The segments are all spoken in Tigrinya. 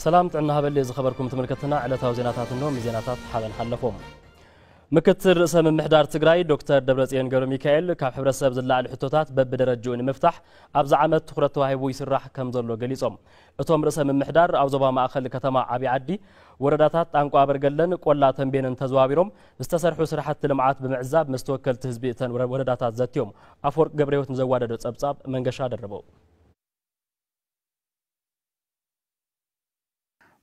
ሰላም ጥዕና ሃበሊ ዝኸበርኩም ተመልከትና፣ ዕለታዊ ዜናታት እንሆ። ምስ ዜናታት ሓበን ሓለፎም። ምክትል ርእሰ ምምሕዳር ትግራይ ዶክተር ደብረጽዮን ገብረ ሚካኤል፣ ካብ ሕብረተሰብ ዝለዓሉ ሕቶታት በብደረጅኡ ንምፍታሕ ኣብዚ ዓመት ትኹረት ተዋሂቡ ይስራሕ ከም ዘሎ ገሊጾም። እቶም ርእሰ ምምሕዳር ኣብ ዞባ ማእኸል ከተማ ዓብዪ ዓዲ፣ ወረዳታት ጣንቋ ኣበርገለን ቆላ ተንቤንን ተዘዋዊሮም ዝተሰርሑ ስራሕቲ ልምዓት ብምዕዛብ ምስ ተወከልቲ ህዝቢ እተን ወረ-፣ ወረዳታት ዘትዮም። ኣፈወርቅ ገብረህይወት ንዘዋደዶ ጸብጻብ መንገሻ ደርበው።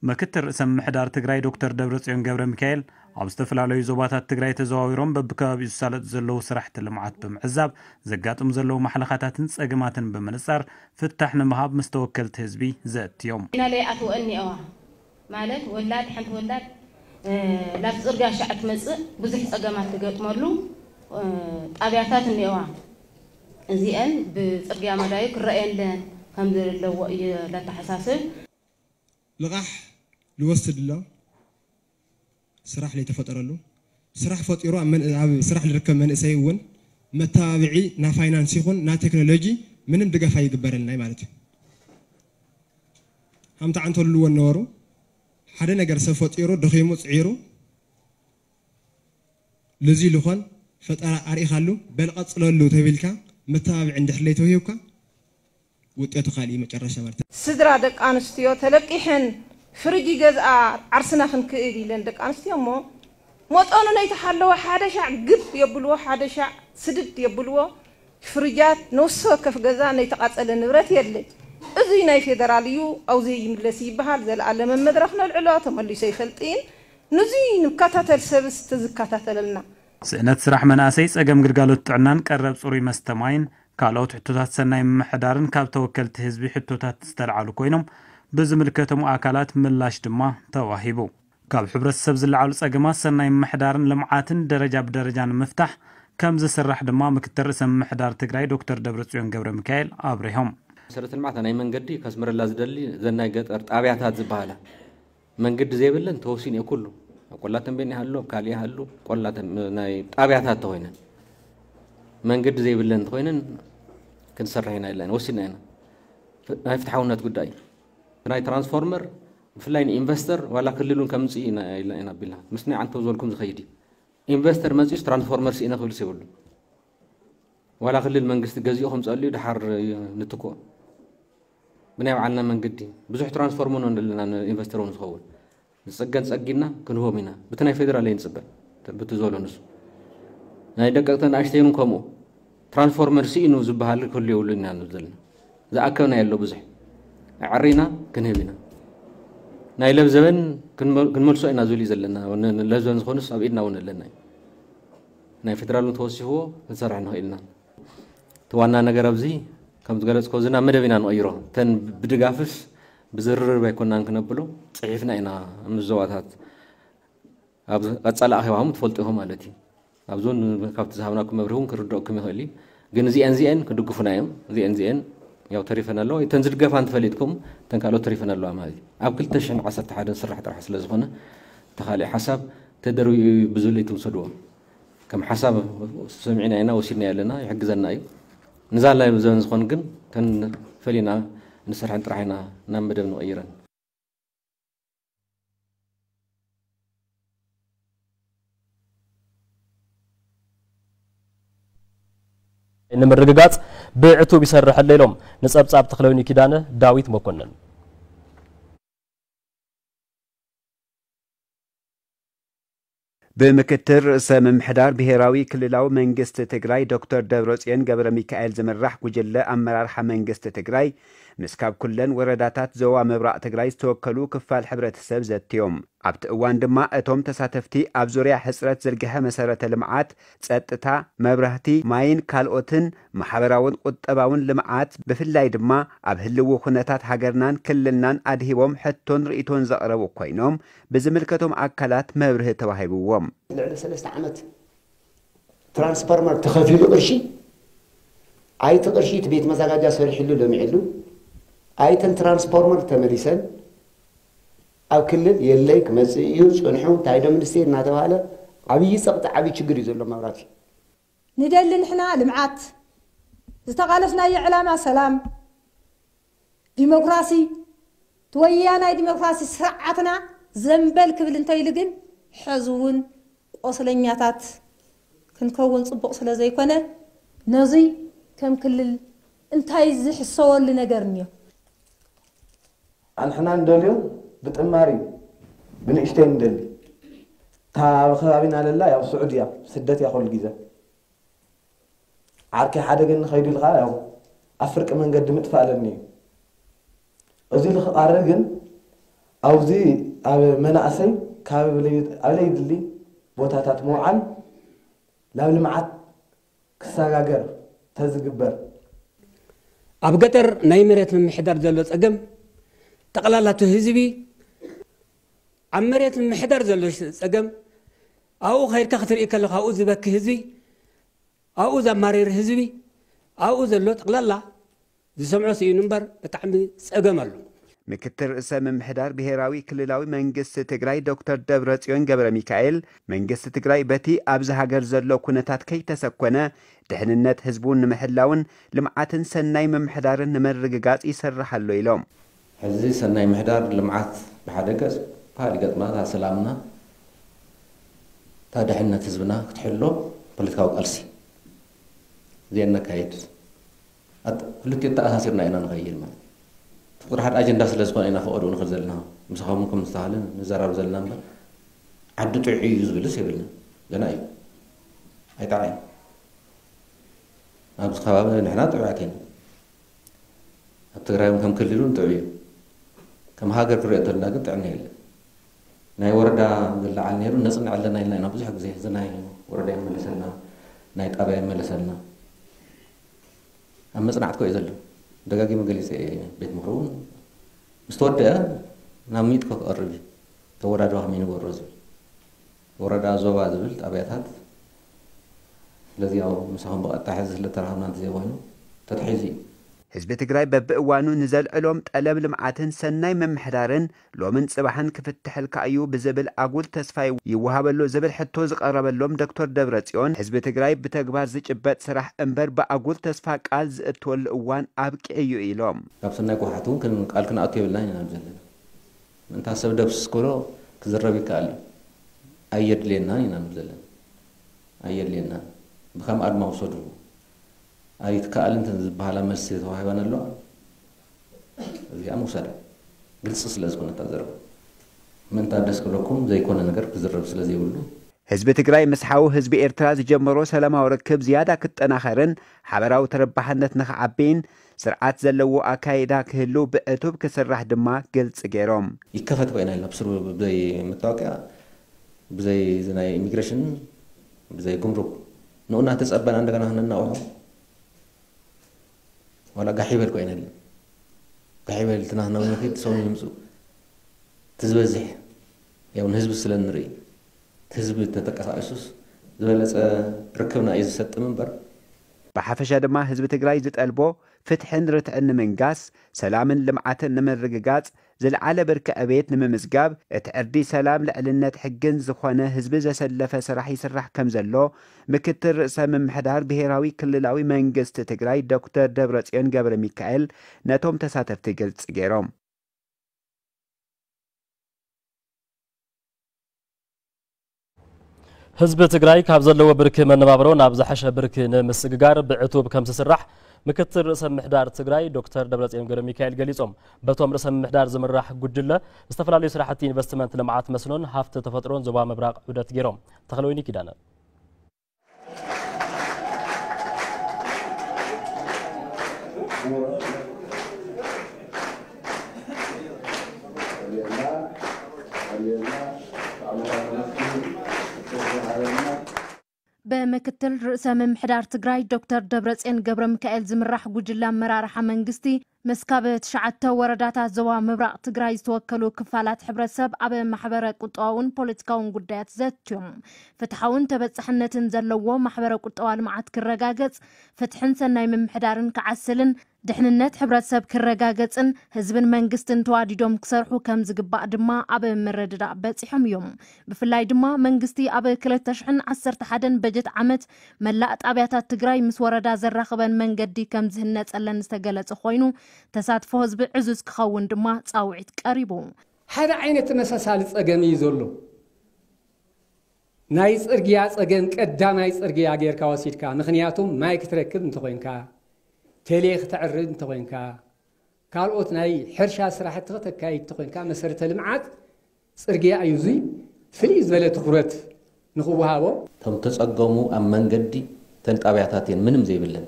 ምክትል ርእሰ ምምሕዳር ትግራይ ዶክተር ደብረጽዮን ገብረ ሚካኤል ኣብ ዝተፈላለዩ ዞባታት ትግራይ ተዘዋዊሮም በብከባቢኡ ዝሳለጡ ዘለዉ ስራሕቲ ልምዓት ብምዕዛብ ዘጋጥሙ ዘለዉ ማሕለኻታትን ጸገማትን ብምንጻር ፍታሕ ንምሃብ ምስ ተወከልቲ ህዝቢ ዘእትዮም። ኢና ለይኣትወአን እኒአዋ ማለት ወላድ ሓንቲ ወላድ ናብ ፅርግያ ሻዕ ትመፅእ ብዙሕ ፀገማት ትገጥመሉ ጣብያታት እኒአዋ። እዚአን ብፅርግያ መዳዩ ክረአየለን ከም ዘለዎ እዩ ለተሓሳስብ። ልቓሕ ልወስድ ኣሎ ስራሕ ለይተፈጠረሉ ስራሕ ፈጢሩ ኣብ መን- ኣብ ስራሕ ልርከብ መንእሰይ እውን መተባብዒ ና ፋይናንስ ይኹን ና ቴክኖሎጂ ምንም ድጋፍ ኣይግበረልናይ ማለት እዩ። ሃምታ ዓንተልዎ ነበሩ ሓደ ነገር ሰብ ፈጢሩ ደኺሙ ፅዒሩ ልዚ ልኾን ፈጠራ ኣርኢኻሉ በል ቀፅለሉ ተቢልካ መተባብዒ እንድሕር ለይተውሂብካ ውጤቱ ካልእ መጨረሻ ማለት እዩ። ስድራ ደቂ ኣንስትዮ ተለቂሐን ፍርጅ ይገዝኣ ዓርስና ክንክእል ኢለን ደቂ ኣንስትዮ እሞ መጠኑ ነይተሓለወ ሓደ ሻዕ ግብ የብልዎ ሓደ ሻዕ ስድድ የብልዎ ፍርጃት ነውሲ ወከፍ ገዛ ነይተቃጸለ ንብረት የለ እዙይ ናይ ፌደራል እዩ ኣውዘይ ይምለስ ይበሃል ዘልኣለመ መድረኽ ነልዕሎ ተመሊሶ ይፈልጥን ንዙይ ንከታተል ሰብስ ተዝከታተለልና። ስእነት ስራሕ መናእሰይ ጸገም ግልጋሎት ጥዕናን ቀረብ ጽሩይ መስተ ማይን ካልኦት ሕቶታት ሰናይ ምምሕዳርን ካብ ተወከልቲ ህዝቢ ሕቶታት ዝተልዓሉ ኮይኖም ብዝምልከቶም ኣካላት ምላሽ ድማ ተዋሂቡ። ካብ ሕብረተሰብ ዝለዓሉ ጸገማት ሰናይ ምምሕዳርን ልምዓትን ደረጃ ብደረጃ ንምፍታሕ ከም ዝስራሕ ድማ ምክትል ርእሰ ምምሕዳር ትግራይ ዶክተር ደብረጽዮን ገብረሚካኤል ኣብሪሆም። መሰረተ ልምዓት ናይ መንገዲ ከስምረላ ዝደሊ ዘን ናይ ገጠር ጣብያታት ዝበሃላ መንገዲ ዘይብለን ተወሲኑ እዩ ኩሉ ኣብ ቆላ ተንቤን ይሃሉ ኣብ ካልእ ይሃሉ ቆላ ናይ ጣብያታት ተኮይነን መንገዲ ዘይብለን ተኮይነን ክንሰርሕ ኢና ኢልና ወሲና ኢና ናይ ፍትሓውነት ጉዳይ ናይ ትራንስፎርመር ብፍላይ ንኢንቨስተር ዋላ ክልሉን ከምፅእ ኢና ኢልና ኢና ቢልና ምስ ናይ ዓንተው ዝበልኩም ዝኸይድ እዩ ኢንቨስተር መፂኡስ ትራንስፎርመር ስኢነ ክብልስ የብሉ ዋላ ክልል መንግስቲ ገዚኡ ከምፀሉ ድሓር ንትኮ ብናይ ባዕልና መንገዲ ብዙሕ ትራንስፎርመር ኣለና ንኢንቨስተር እውን ዝኸውን ዝፀገን ፀጊና ክንህቦም ኢና ብቲ ናይ ፌደራል ኣይንፅበ ብቲ ዘሎ ንሱ ናይ ደቀቅተን ኣሽተይን ከምኡ ትራንስፎርመር ስኢኑ ዝበሃል ክህሉ የብሉ ኢና ንብል ዘለና ዝኣከብና የሎ ብዙሕ ኣዕሪና ክንህብ ኢና ናይ ለብዘበን ክንመልሶ ኢና ዝብል እዩ ዘለና ለብዘበን ዝኾኑስ ኣብ ኢድና እውን ኣለና እዩ ናይ ፌደራል ተወሲኽዎ ክንሰርሕ ንኽእል ኢና እቲ ዋና ነገር ኣብዚ ከም ዝገለፅኮ እዚ ናብ መደብ ኢና ንቕይሮ እተን ብድጋፍስ ብዝርርብ ኣይኮናን ክነብሎ ፅሒፍና ኢና ምስ ዞባታት ኣብ ቀፃሊ ኣኼባኹም ትፈልጡ ኢኹም ማለት እዩ ኣብዚ እውን ካብቲ ዝሃብናኩም መብርሂ እውን ክርደእኩም ይኽእል እዩ ግን እዚአን እዚአን ክድግፉና እዮም እዚአን እዚአን ያው ተሪፈን ኣለዋ እተን ዝድገፋ እንተፈሊጥኩም እተን ካልኦት ተሪፈን ኣለዋ ማለት እዩ ኣብ ክልተ ሽሕን ዓሰርተ ሓደን ዝስራሕ ጥራሕ ስለ ዝኾነ እቲ ካልእ ሓሳብ ተደርቢኡ እዩ ብዝብል ኣይትውሰድዎ ከም ሓሳብ ሰሚዕና ኢና ወሲድና ኣለና ይሕግዘና እዩ ንዛ ላይ ዘበን ዝኾን ግን ተን ፈሊና ንሰርሐን ጥራሕ ኢና ናብ መደብ ንቕይረን ንምርግጋፅ ብዕቱብ ይሰርሕ ኣሎ ኢሎም ንፀብፃብ ተክለውኒ ኪዳነ ዳዊት መኮንን ብምክትል ርእሰ ምምሕዳር ብሄራዊ ክልላዊ መንግስቲ ትግራይ ዶክተር ደብረፅዮን ገብረሚካኤል ዝምራሕ ጉጅለ ኣመራርሓ መንግስቲ ትግራይ ምስ ካብ ኩለን ወረዳታት ዞባ ምብራቕ ትግራይ ዝተወከሉ ክፋል ሕብረተሰብ ዘትዮም። ኣብቲ እዋን ድማ እቶም ተሳተፍቲ ኣብ ዙርያ ሕፅረት ዝርግሐ መሰረተ ልምዓት፣ ፀጥታ፣ መብራህቲ፣ ማይን ካልኦትን ማሕበራውን ቁጠባውን ልምዓት ብፍላይ ድማ ኣብ ህልዊ ኩነታት ሃገርናን ክልልናን ኣድሂቦም ሕቶን ርእይቶን ዘቕረቡ ኮይኖም ብዝምልከቶም ኣካላት መብርሂ ተዋሂብዎም። ልዕሊ ሰለስተ ዓመት ትራንስፎርመር ተኸፊሉ ቅርሺ ኣይቲ ቅርሺ እቲ ቤት መዛጋጃ ሰሪሕሉ ለሚዕሉ ኣይተን ትራንስፎርመር ተመሊሰን ኣብ ክልል የለይ ክመፅእ እዩ ፅንሑ እንታይ ዶ ሚኒስቴር እናተባሃለ ዓብዪ ፀቕጢ ዓብዪ ችግር እዩ ዘሎ መብራቲ ንደሊ ንሕና ልምዓት ዝተቓለስናዮ ዕላማ ሰላም ዲሞክራሲ እቲ ወያናይ ዲሞክራሲ ስርዓትና ዘንበል ክብል እንተኢሉ ግን፣ ሕዚ እውን ቆስለኛታት ክንከውን ጽቡቕ ስለ ዘይኮነ፣ ነዙይ ከም ክልል እንታይ ዝሕሰወሉ ነገር እኒኦ? ኣንሕና እንደልዮ ብጥማር እዩ፣ ብንእሽተይ እንደሊ። እታ ኣብ ከባቢና ለላ ያው ስዑድ እያ፣ ስደት እያ ኩሉ ግዜ። ዓርከይ ሓደ ግን ንኸይዱ ኢልካ ያው ኣብ ፍርቂ መንገዲ ምጥፋእ ኣለኒ እዩ። እዚ ልኽቓረ ግን ኣብዚ ኣብ መናእሰይ ካብ ለይ-፣ ኣብ ለይድሊ ቦታታት ምውዓል ናብ ልምዓት ክሰጋገር ተዝግበር። ኣብ ገጠር ናይ መሬት ምምሕዳር ዘሎ ጸገም፣ ጠቕላላ እቲ ህዝቢ ኣብ መሬት ምምሕዳር ዘሎ ጸገም፣ ኣብኡ ከይድካ ክትርኢ ከለኻ ኣብኡ ዝበኪ ህዝቢ፣ ኣብኡ ዘማርር ህዝቢ፣ ኣብኡ ዘሎ ጠቕላላ ዝሰምዖ ስኢኑ እምበር ብጣዕሚ ጸገም ኣሎ። ምክትል ርእሰ ምምሕዳር ብሄራዊ ክልላዊ መንግስቲ ትግራይ ዶክተር ደብረጽዮን ገብረ ሚካኤል፣ መንግስቲ ትግራይ በቲ ኣብዚ ሃገር ዘሎ ኩነታት ከይተሰኮነ ድሕንነት ህዝቡ ንምሕላውን ልምዓትን ሰናይ ምምሕዳርን ንምርግጋጽ ይሰርሕ ኣሎ ኢሎም። ሕዚ ሰናይ ምሕዳር ልምዓት ብሓደ ገጽ፣ ብኻሊእ ገጽ ድማ እታ ሰላምና፣ እታ ድሕነት ህዝብና ክትሕሎ ፖለቲካዊ ቃልሲ እዚአን ነካይድ። ኣት-፣ ክልቲኡ ተኣሳሲርና ኢና ንኸይድ ማለት እዩ። እቲ ቁጥሪ ሓደ ኣጀንዳ ስለ ዝኾነ ኢና ፈቐድኡ ንኽእል ዘለና። ምሳኹም እውን ከም ዝተባህለ ንዘራረብ ዘለና እምበር፣ ዓዲ ጥዑይ እዩ ዝብልስ የብልና። ገና እዩ። ኣይጠዓይን። ኣብዚ ከባቢ ንሕና ጥዑያት ኢና። ኣብ ትግራይ እውን ከም ክልል እውን ጥዑይ እዩ። ከም ሃገር ክሪኦ እንተልና ግን ጥዕና የለን። ናይ ወረዳ ዝለዓል ነይሩ፣ ነፅንዕ ኣለና ኢልና ኢና ብዙሕ ግዜ። እዚ ናይ ወረዳ ይመለሰልና፣ ናይ ጣብያ ይመለሰልና። ኣብ መጽናዕቲ እኮ እዩ ዘሎ። ደጋጊመ ገሊጸ እየ። ቤት ምኽሪ እውን ምስ ተወደአ ናብ ሚእቲ እኮ ክቐርብ እዩ። ተወዳድባ ከመይ ንገብሮ ዝብል። ወረዳ፣ ዞባ ዝብል ጣብያታት። ስለዚ ያው ምሳኹም ብቐጥታ ሕዚ ስለ ተራኸብና እንተዘይኮይኑ ተታሒዙ እዩ። ህዝቢ ትግራይ በብእዋኑ ንዘልዕሎም ጠለብ ልምዓትን ሰናይ ምምሕዳርን ሎምን ጽባሕን ክፍትሐልካ እዩ ብዝብል ኣጉል ተስፋ ይወሃበሉ ዝብል ሕቶ ዝቐረበሎም ዶክተር ደብረጽዮን፣ ህዝቢ ትግራይ ብተግባር ዝጭበጥ ስራሕ እምበር ብኣጉል ተስፋ ቃል ዝእትወሉ እዋን ኣብቂዑ እዩ ኢሎም። ካብ ሰናይ ጓሓት እውን ክን-፣ ቃል ክንኣቱ የብልናን ኢና ንብል ዘለና። ምእንታ ሰብ ደምስስ ክብሎ ክዝረብ ይከኣል እዩ። ኣየድልየናን ኢና ንብል ዘለና። ኣየድልየናን። ብከም ኣድማ ውሰዱ። ኣይትከኣልን እተን ዝበሃላ መልሲ ተዋሂበን ኣለዋ። እዚኣ ምውሳድ ግልፂ ስለ ዝኾነ እታ ዘረባ። ምእንታ ደስ ክብለኩም ዘይኮነ ነገር ክዝረብ ስለ ዘይብሉ። ህዝቢ ትግራይ ምስ ሓው ህዝቢ ኤርትራ ዝጀመሮ ሰላማዊ ርክብ ዝያዳ ክጠናኸርን ሓበራዊ ተረባሕነት ንኽዓብይን ስርዓት ዘለዎ ኣካይዳ ክህሉ ብዕቱብ ክስራሕ ድማ ግልፂ ገይሮም። ይከፈት ኮይና ኢልና ብስሩ ብዘይ መታወቂያ፣ ብዘይ እዚ ናይ ኢሚግሬሽን፣ ብዘይ ጉምሩክ ንኡ እናተፀበና እንደገና ክነናውሖ ዋላ ጋሕ ይበል ኮይነ። ጋሕ ይበል እቲ ናህና እውን ንኺድ ሰው ይምፁ። እቲ ዝበዝሕ ያው ንህዝቢ ስለ ንርኢ፣ እቲ ህዝቢ ተተቀሳቂሱስ ዝበለፀ ርክብና እዩ ዝሰጥም እምበር። ብሓፈሻ ድማ ህዝቢ ትግራይ ዝጠልቦ ፍትሕን ርትዕን ንምንጋስ፣ ሰላምን ልምዓትን ንምርግጋጽ፣ ዝለዓለ ብርኪ ዕቤት ንምምዝጋብ፣ እቲ ዕርዲ ሰላም ልዕልነት ሕግን ዝኾነ ህዝቢ ዘሰለፈ ስራሕ ይስራሕ ከም ዘሎ ምክትል ርእሰ ምምሕዳር ብሄራዊ ክልላዊ መንግስቲ ትግራይ ዶክተር ደብረጽዮን ገብረ ሚካኤል ነቶም ተሳተፍቲ ግልፂ ገይሮም። ህዝቢ ትግራይ ካብ ዘለዎ ብርኪ መነባብሮ ናብ ዝሐሸ ብርኪ ንምስግጋር ብዕቱብ ከም ዝስራሕ ምክትል ርእሰ ምምሕዳር ትግራይ ዶክተር ደብረጽዮን ገብረ ሚካኤል ገሊጾም። በቶም ርእሰ ምምሕዳር ዝምራሕ ጉጅለ ዝተፈላለዩ ስራሕቲ ኢንቨስትመንት፣ ልምዓት መስኖን ሃፍቲ ተፈጥሮን ዞባ ምብራቕ ዑደት ገይሮም። ተኽለወይኒ ኪዳነ። ብምክትል ርእሰ ምምሕዳር ትግራይ ዶክተር ደብረጽዮን ገብረ ሚካኤል ዝምራሕ ጉጅለ ኣመራርሓ መንግስቲ፣ ምስ ካብ ትሽዓተ ወረዳታት ዞባ ምብራቕ ትግራይ ዝተወከሉ ክፋላት ሕብረተሰብ ኣብ ማሕበረ ቁጠባውን ፖለቲካውን ጉዳያት ዘትዮም። ፍትሓውን ተበጻሕነትን ዘለዎ ማሕበረ ቁጠባ ልምዓት ክረጋገጽ፣ ፍትሕን ሰናይ ምምሕዳርን ክዓስልን ድሕንነት ሕብረተሰብ ክረጋገጽን ህዝብን መንግስትን ተዋዲዶም ክሰርሑ ከም ዝግባእ ድማ ኣብ ምርድዳእ በጺሖም እዮም። ብፍላይ ድማ መንግስቲ ኣብ ክልተ ሽሕን ዓሰርተ ሓደን በጀት ዓመት መላእ ጣብያታት ትግራይ ምስ ወረዳ ዘራኽበን መንገዲ ከም ዝህነጸለን ዝተገለጸ ኮይኑ፣ ተሳትፎ ህዝቢ ዕዙዝ ክኸውን ድማ ጻውዒት ቀሪቡ። ሓደ ዓይነት ተመሳሳሊ ጸገም እዩ ዘሎ። ናይ ጽርግያ ጸገም ቀዳማይ ጽርግያ ጌርካ ወሲድካ፣ ምኽንያቱም ማይ ክትረክብ እንተኾይንካ፣ ቴሌ ክተዕርድ እንተኾይንካ፣ ካልኦት ናይ ሕርሻ ስራሕቲ ከተካይድ እንተኾይንካ፣ መሰረተ ልምዓት ጽርግያ እዩ። እዙይ ፍልይ ዝበለ ትኹረት ንኽወሃቦ። እቶም ተጸገሙ ኣብ መንገዲ ተን ጣብያታት እየን ምንም ዘይብለን።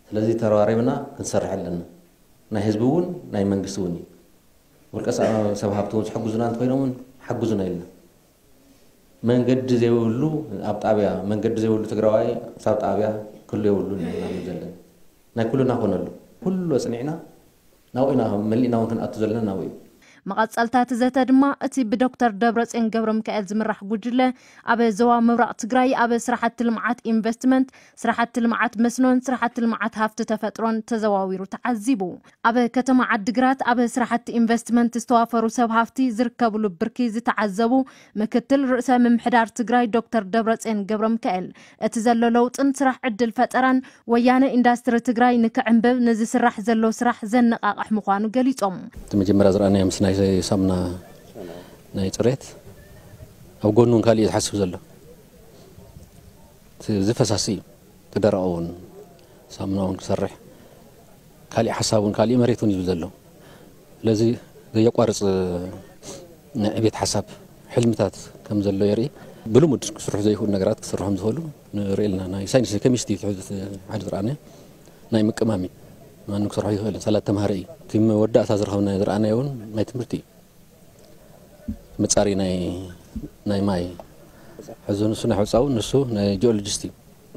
ስለዚ ተረባሪብና ክንሰርሕ ኣለና። ናይ ህዝቢ እውን ናይ መንግስቲ እውን እዩ። ውልቀ ሰብ፣ ሰብ ሃብቲ እውን ዝሕግዙና እንተኮይኖም እውን ሓግዙና ኢልና። መንገዲ ዘይብሉ ኣብ ጣብያ፣ መንገዲ ዘይብሉ ትግራዋይ ሳብ ጣብያ ክህሉ የብሉን ኢና ንብል ዘለና። ናይ ኩልና ኮነሉ። ኩሉ ኣጽኒዕና ናብኡ ኢና፣ መሊእና እውን ክንኣቱ ዘለና ናብኡ እዩ። መቐጸልታ እቲ ዘተ ድማ እቲ ብዶክተር ደብረጽዮን ገብረ ሚካኤል ዝምራሕ ጉጅለ ኣብ ዞባ ምብራቕ ትግራይ ኣብ ስራሕቲ ልምዓት ኢንቨስትመንት፣ ስራሕቲ ልምዓት መስኖን ስራሕቲ ልምዓት ሃፍቲ ተፈጥሮን ተዘዋዊሩ ተዓዚቡ። ኣብ ከተማ ዓዲግራት ኣብ ስራሕቲ ኢንቨስትመንት ዝተዋፈሩ ሰብ ሃፍቲ ዝርከብሉ ብርኪ ዝተዓዘቡ ምክትል ርእሰ ምምሕዳር ትግራይ ዶክተር ደብረጽዮን ገብረ ሚካኤል፣ እቲ ዘሎ ለውጥን ስራሕ ዕድል ፈጠራን ወያነ ኢንዳስትሪ ትግራይ ንክዕንብብ ንዝስራሕ ዘሎ ስራሕ ዘነቓቕሕ ምዃኑ ገሊጾም። እቲ መጀመርያ ዝረኣናዮ ምስ ናይ ሳሙና ናይ ጽሬት ኣብ ጎኑ እውን ካሊእ ዝሓስብ ዘሎ እዚ ፈሳሲ እዩ። እቲ ደረቕ እውን ሳሙና እውን ክሰርሕ ካሊእ ሓሳብ እውን ካሊእ መሬት እውን ይብል ዘሎ። ስለዚ ዘየቋርጽ ናይ ዕቤት ሓሳብ ሕልምታት ከም ዘሎ የርኢ። ብልሙድ ክስርሑ ዘይኽእሉ ነገራት ክስርሑ ከም ዝኽእሉ ንርኢ ኣለና። ናይ ሳይንስ ኬሚስትሪ ትሕዝት ሓደ ዝረኣናዮ ናይ ምቅማም እዩ። ማንም ክሰርሖ ይኽእል እዩ። ሳላ ተምሃረ እዩ። እቲ መወዳእታ ዝረኸብናዮ ዝረኣናዮ እውን ናይ ትምህርቲ እዩ። መጻሪ ናይ ናይ ማይ ሕዚ ንሱ ናይ ሕጻው ንሱ ናይ ጂኦሎጂስት እዩ።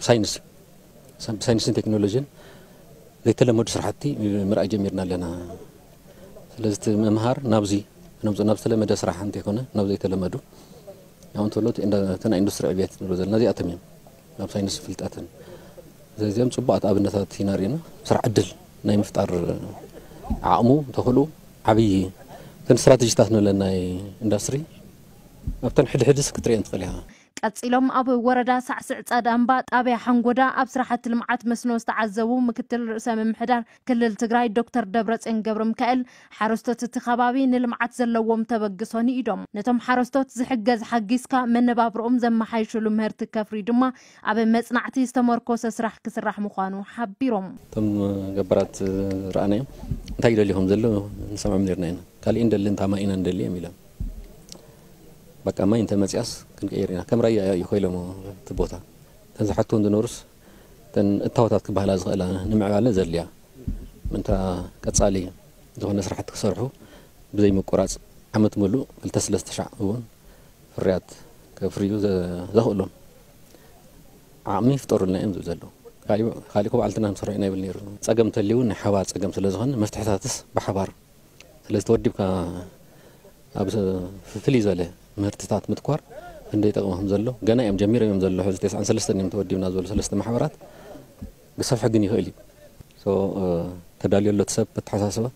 ሳይንስ እዩ። ሳይንስን ቴክኖሎጂን ዘይተለመዱ ስራሕቲ ምርኣይ ጀሚርና ኣለና። ስለዚ እቲ ምምሃር ናብዚ ነምጽኦ፣ ናብ ዝተለመደ ስራሕ እንተይኮነ ናብ ዘይተለመዱ፣ ያው እንተሎ እቲ ኢንዳ-፣ እቲ ናይ ኢንዱስትሪ ዕብየት ንብሎ ዘለና እዚኣቶም እዮም። ኣብ ሳይንስ ፍልጠትን እዚኦም ጽቡቓት ኣብነታት ኢና ርኢና። ስራሕ ዕድል ናይ ምፍጣር ዓቕሙ፣ ተኽእሉ ዓብዪ። እተን ስትራተጂታት ንብለን ናይ ኢንዱስትሪ ኣብተን ሕድሕድስ ክትርእየን ትኽእል ኢኻ። ቀጺሎም ኣብ ወረዳ ሳዕስዕ ጸዳምባ ጣብያ ሓንጎዳ ኣብ ስራሕቲ ልምዓት መስኖ ዝተዓዘቡ ምክትል ርእሰ ምምሕዳር ክልል ትግራይ ዶክተር ደብረጽዮን ገብረ ሚካኤል፣ ሓረስቶት እቲ ከባቢ ንልምዓት ዘለዎም ተበግሶ ንኢዶም። ነቶም ሓረስቶት ዝሕገዝ ሓጊዝካ መነባብርኦም ዘመሓይሽሉ ምህርቲ ከፍርዩ ድማ ኣብ መጽናዕቲ ዝተመርኮሰ ስራሕ ክስራሕ ምዃኑ ሓቢሮም። እቶም ገባራት ዝረኣናዮም እንታይ ይደልዩ ከም ዘለዉ ንሰምዖም ነርና ኢና። ካሊእ እንደሊ እንታ ማይ ኢና እንደሊ እዮም ኢሎም። በቃ ማይ እንተመፅያስ ክንቀይር ኢና። ከም ራያ እዩ ኮይሎሞ እቲ ቦታ። እተን ዝሓትዎም ዝነበሩስ እተን እታወታት ክበሃላ ዝኽእላ ንምዕባለ ዘድልያ ምእንታ ቀፃሊ ዝኾነ ስራሕቲ ክሰርሑ ብዘይ ምቁራፅ ዓመት ሙሉእ ክልተ ሰለስተ ሻዕ እውን ፍርያት ከፍርዩ ዘ-፣ ዘኽእሎም ዓቕሚ ይፍጠሩልና እዮም ዝብል ዘለዉ። ካሊእ፣ ካሊእ ኮ ባዕልትና ንሰርሖ ኢና ይብል ነይሩ። ፀገም እንተልዩ እውን ናይ ሓባር ፀገም ስለ ዝኾነ መፍትሕታትስ ብሓባር ስለ ዝተወዲብካ ኣብ ስ-፣ ፍልይ ዝበለ ምህርትታት ምትኳር ክንደይ ይጠቕም ከም ዘሎ ገና እዮም ጀሚሮም እዮም ዘለዉ። ሕዚ ተስዓን ሰለስተን እዮም ተወዲብና ዝበሉ ሰለስተ ማሕበራት ክሰፍሐ ግን ይኽእል እዩ። ሶ፣ እ፣ ተዳልዮ ኣሎ እቲ ሰብ በተሓሳስባ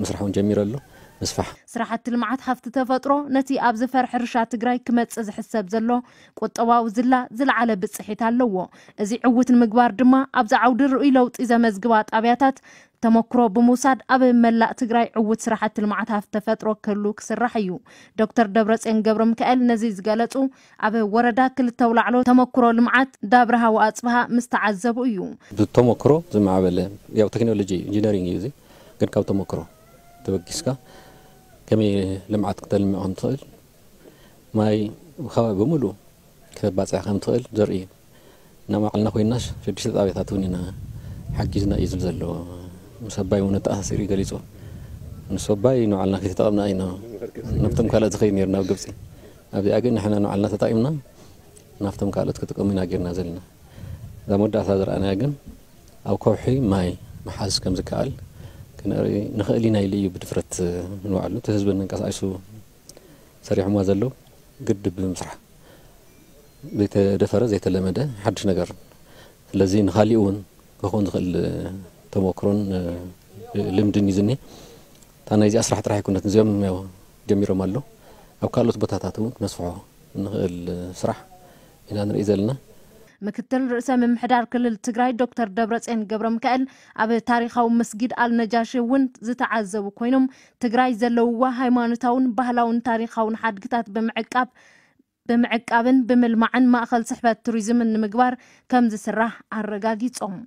ምስራሕ እውን ጀሚሩ ኣሎ። ምስፋሕ። ስራሕቲ ልምዓት ሃፍቲ ተፈጥሮ ነቲ ኣብ ዝፈር ሕርሻ ትግራይ ክመጽእ ዝሕሰብ ዘሎ ቁጠባዊ ዝላ ዝለዓለ ብጽሒት ኣለዎ። እዚ ዕዉት ንምግባር ድማ ኣብዚ ዓውዲ ርኡይ ለውጢ ዘመዝግባ ጣብያታት ተመክሮ ብምውሳድ ኣብ መላእ ትግራይ ዕዉት ስራሕቲ ልምዓት ሃፍቲ ተፈጥሮ ክህሉ ክስራሕ እዩ። ዶክተር ደብረጽዮን ገብረ ሚካኤል ነዚ ዝገለጹ ኣብ ወረዳ ክልተ ኣውላዕሎ ተመክሮ ልምዓት ዳብረ ሃዋ ኣጽብሃ ምስ ተዓዘቡ እዩ። ብተመክሮ ዝማዕበለ ያው ቴክኖሎጂ ኢንጂነሪንግ እዩ እዚ፣ ግን ካብ ተመክሮ ተበጊስካ ከመይ ልምዓት ክተልምዕ ከም ትኽእል፣ ማይ ከባቢ ብምሉእ ክተባፅሕ ከም ትኽእል ዘርኢ እዩ። እና ባዕልና ኮይናስ ሽዱሽተ ጣብያታት እውን ኢና ሓጊዝና እዩ ዝብል ዘሎ። ምስ ኣባይ እውን ኣተኣሳሲሩ እዩ ገሊፁ። ምስ ኣባይ ንባዕልና ከይተጠቐምና ኢና ናብቶም ካልኦት ዝኸይድ ነይሩ ናብ ግብፂ። ኣብዚኣ ግን ንሕና ንባዕልና ተጠቒምና ናብቶም ካልኦት ክጥቀሙ ኢና ጌርና ዘለና። እዛ መወዳእታ ዝረኣናያ ግን ኣብ ከውሒ ማይ ምሓዝ ከም ዝከኣል ክንርኢ ንኽእል ኢና ኢሉ እዩ ብድፍረት ንባዕሉ እቲ ህዝቢ መንቀሳቐሱ ሰሪሖምዋ ዘለዉ ግድብ ብምስራሕ ዘይተደፈረ ዘይተለመደ ሓድሽ ነገር። ስለዚ ንኻሊእ እውን ክኸውን ዝኽእል ተሞክሮን ልምድን እዩ ዝኒሀ። እታ ናይዚኣ ስራሕ ጥራሕ ኣይኮነትን፣ እዚኦም ያው ጀሚሮም ኣለዉ። ኣብ ካልኦት ቦታታት እውን ክነስፍሖ ንኽእል ስራሕ ኢና ንርኢ ዘለና። ምክትል ርእሰ ምምሕዳር ክልል ትግራይ ዶክተር ደብረፅዮን ገብረ ሚካኤል ኣብ ታሪኻዊ መስጊድ ኣልነጃሺ እውን ዝተዓዘቡ ኮይኖም፣ ትግራይ ዘለውዋ ሃይማኖታውን ባህላውን ታሪኻውን ሓድግታት ብምዕቃብ ብምዕቃብን ብምልማዕን ማእኸል ስሕበት ቱሪዝምን ንምግባር ከም ዝስራሕ ኣረጋጊፆም።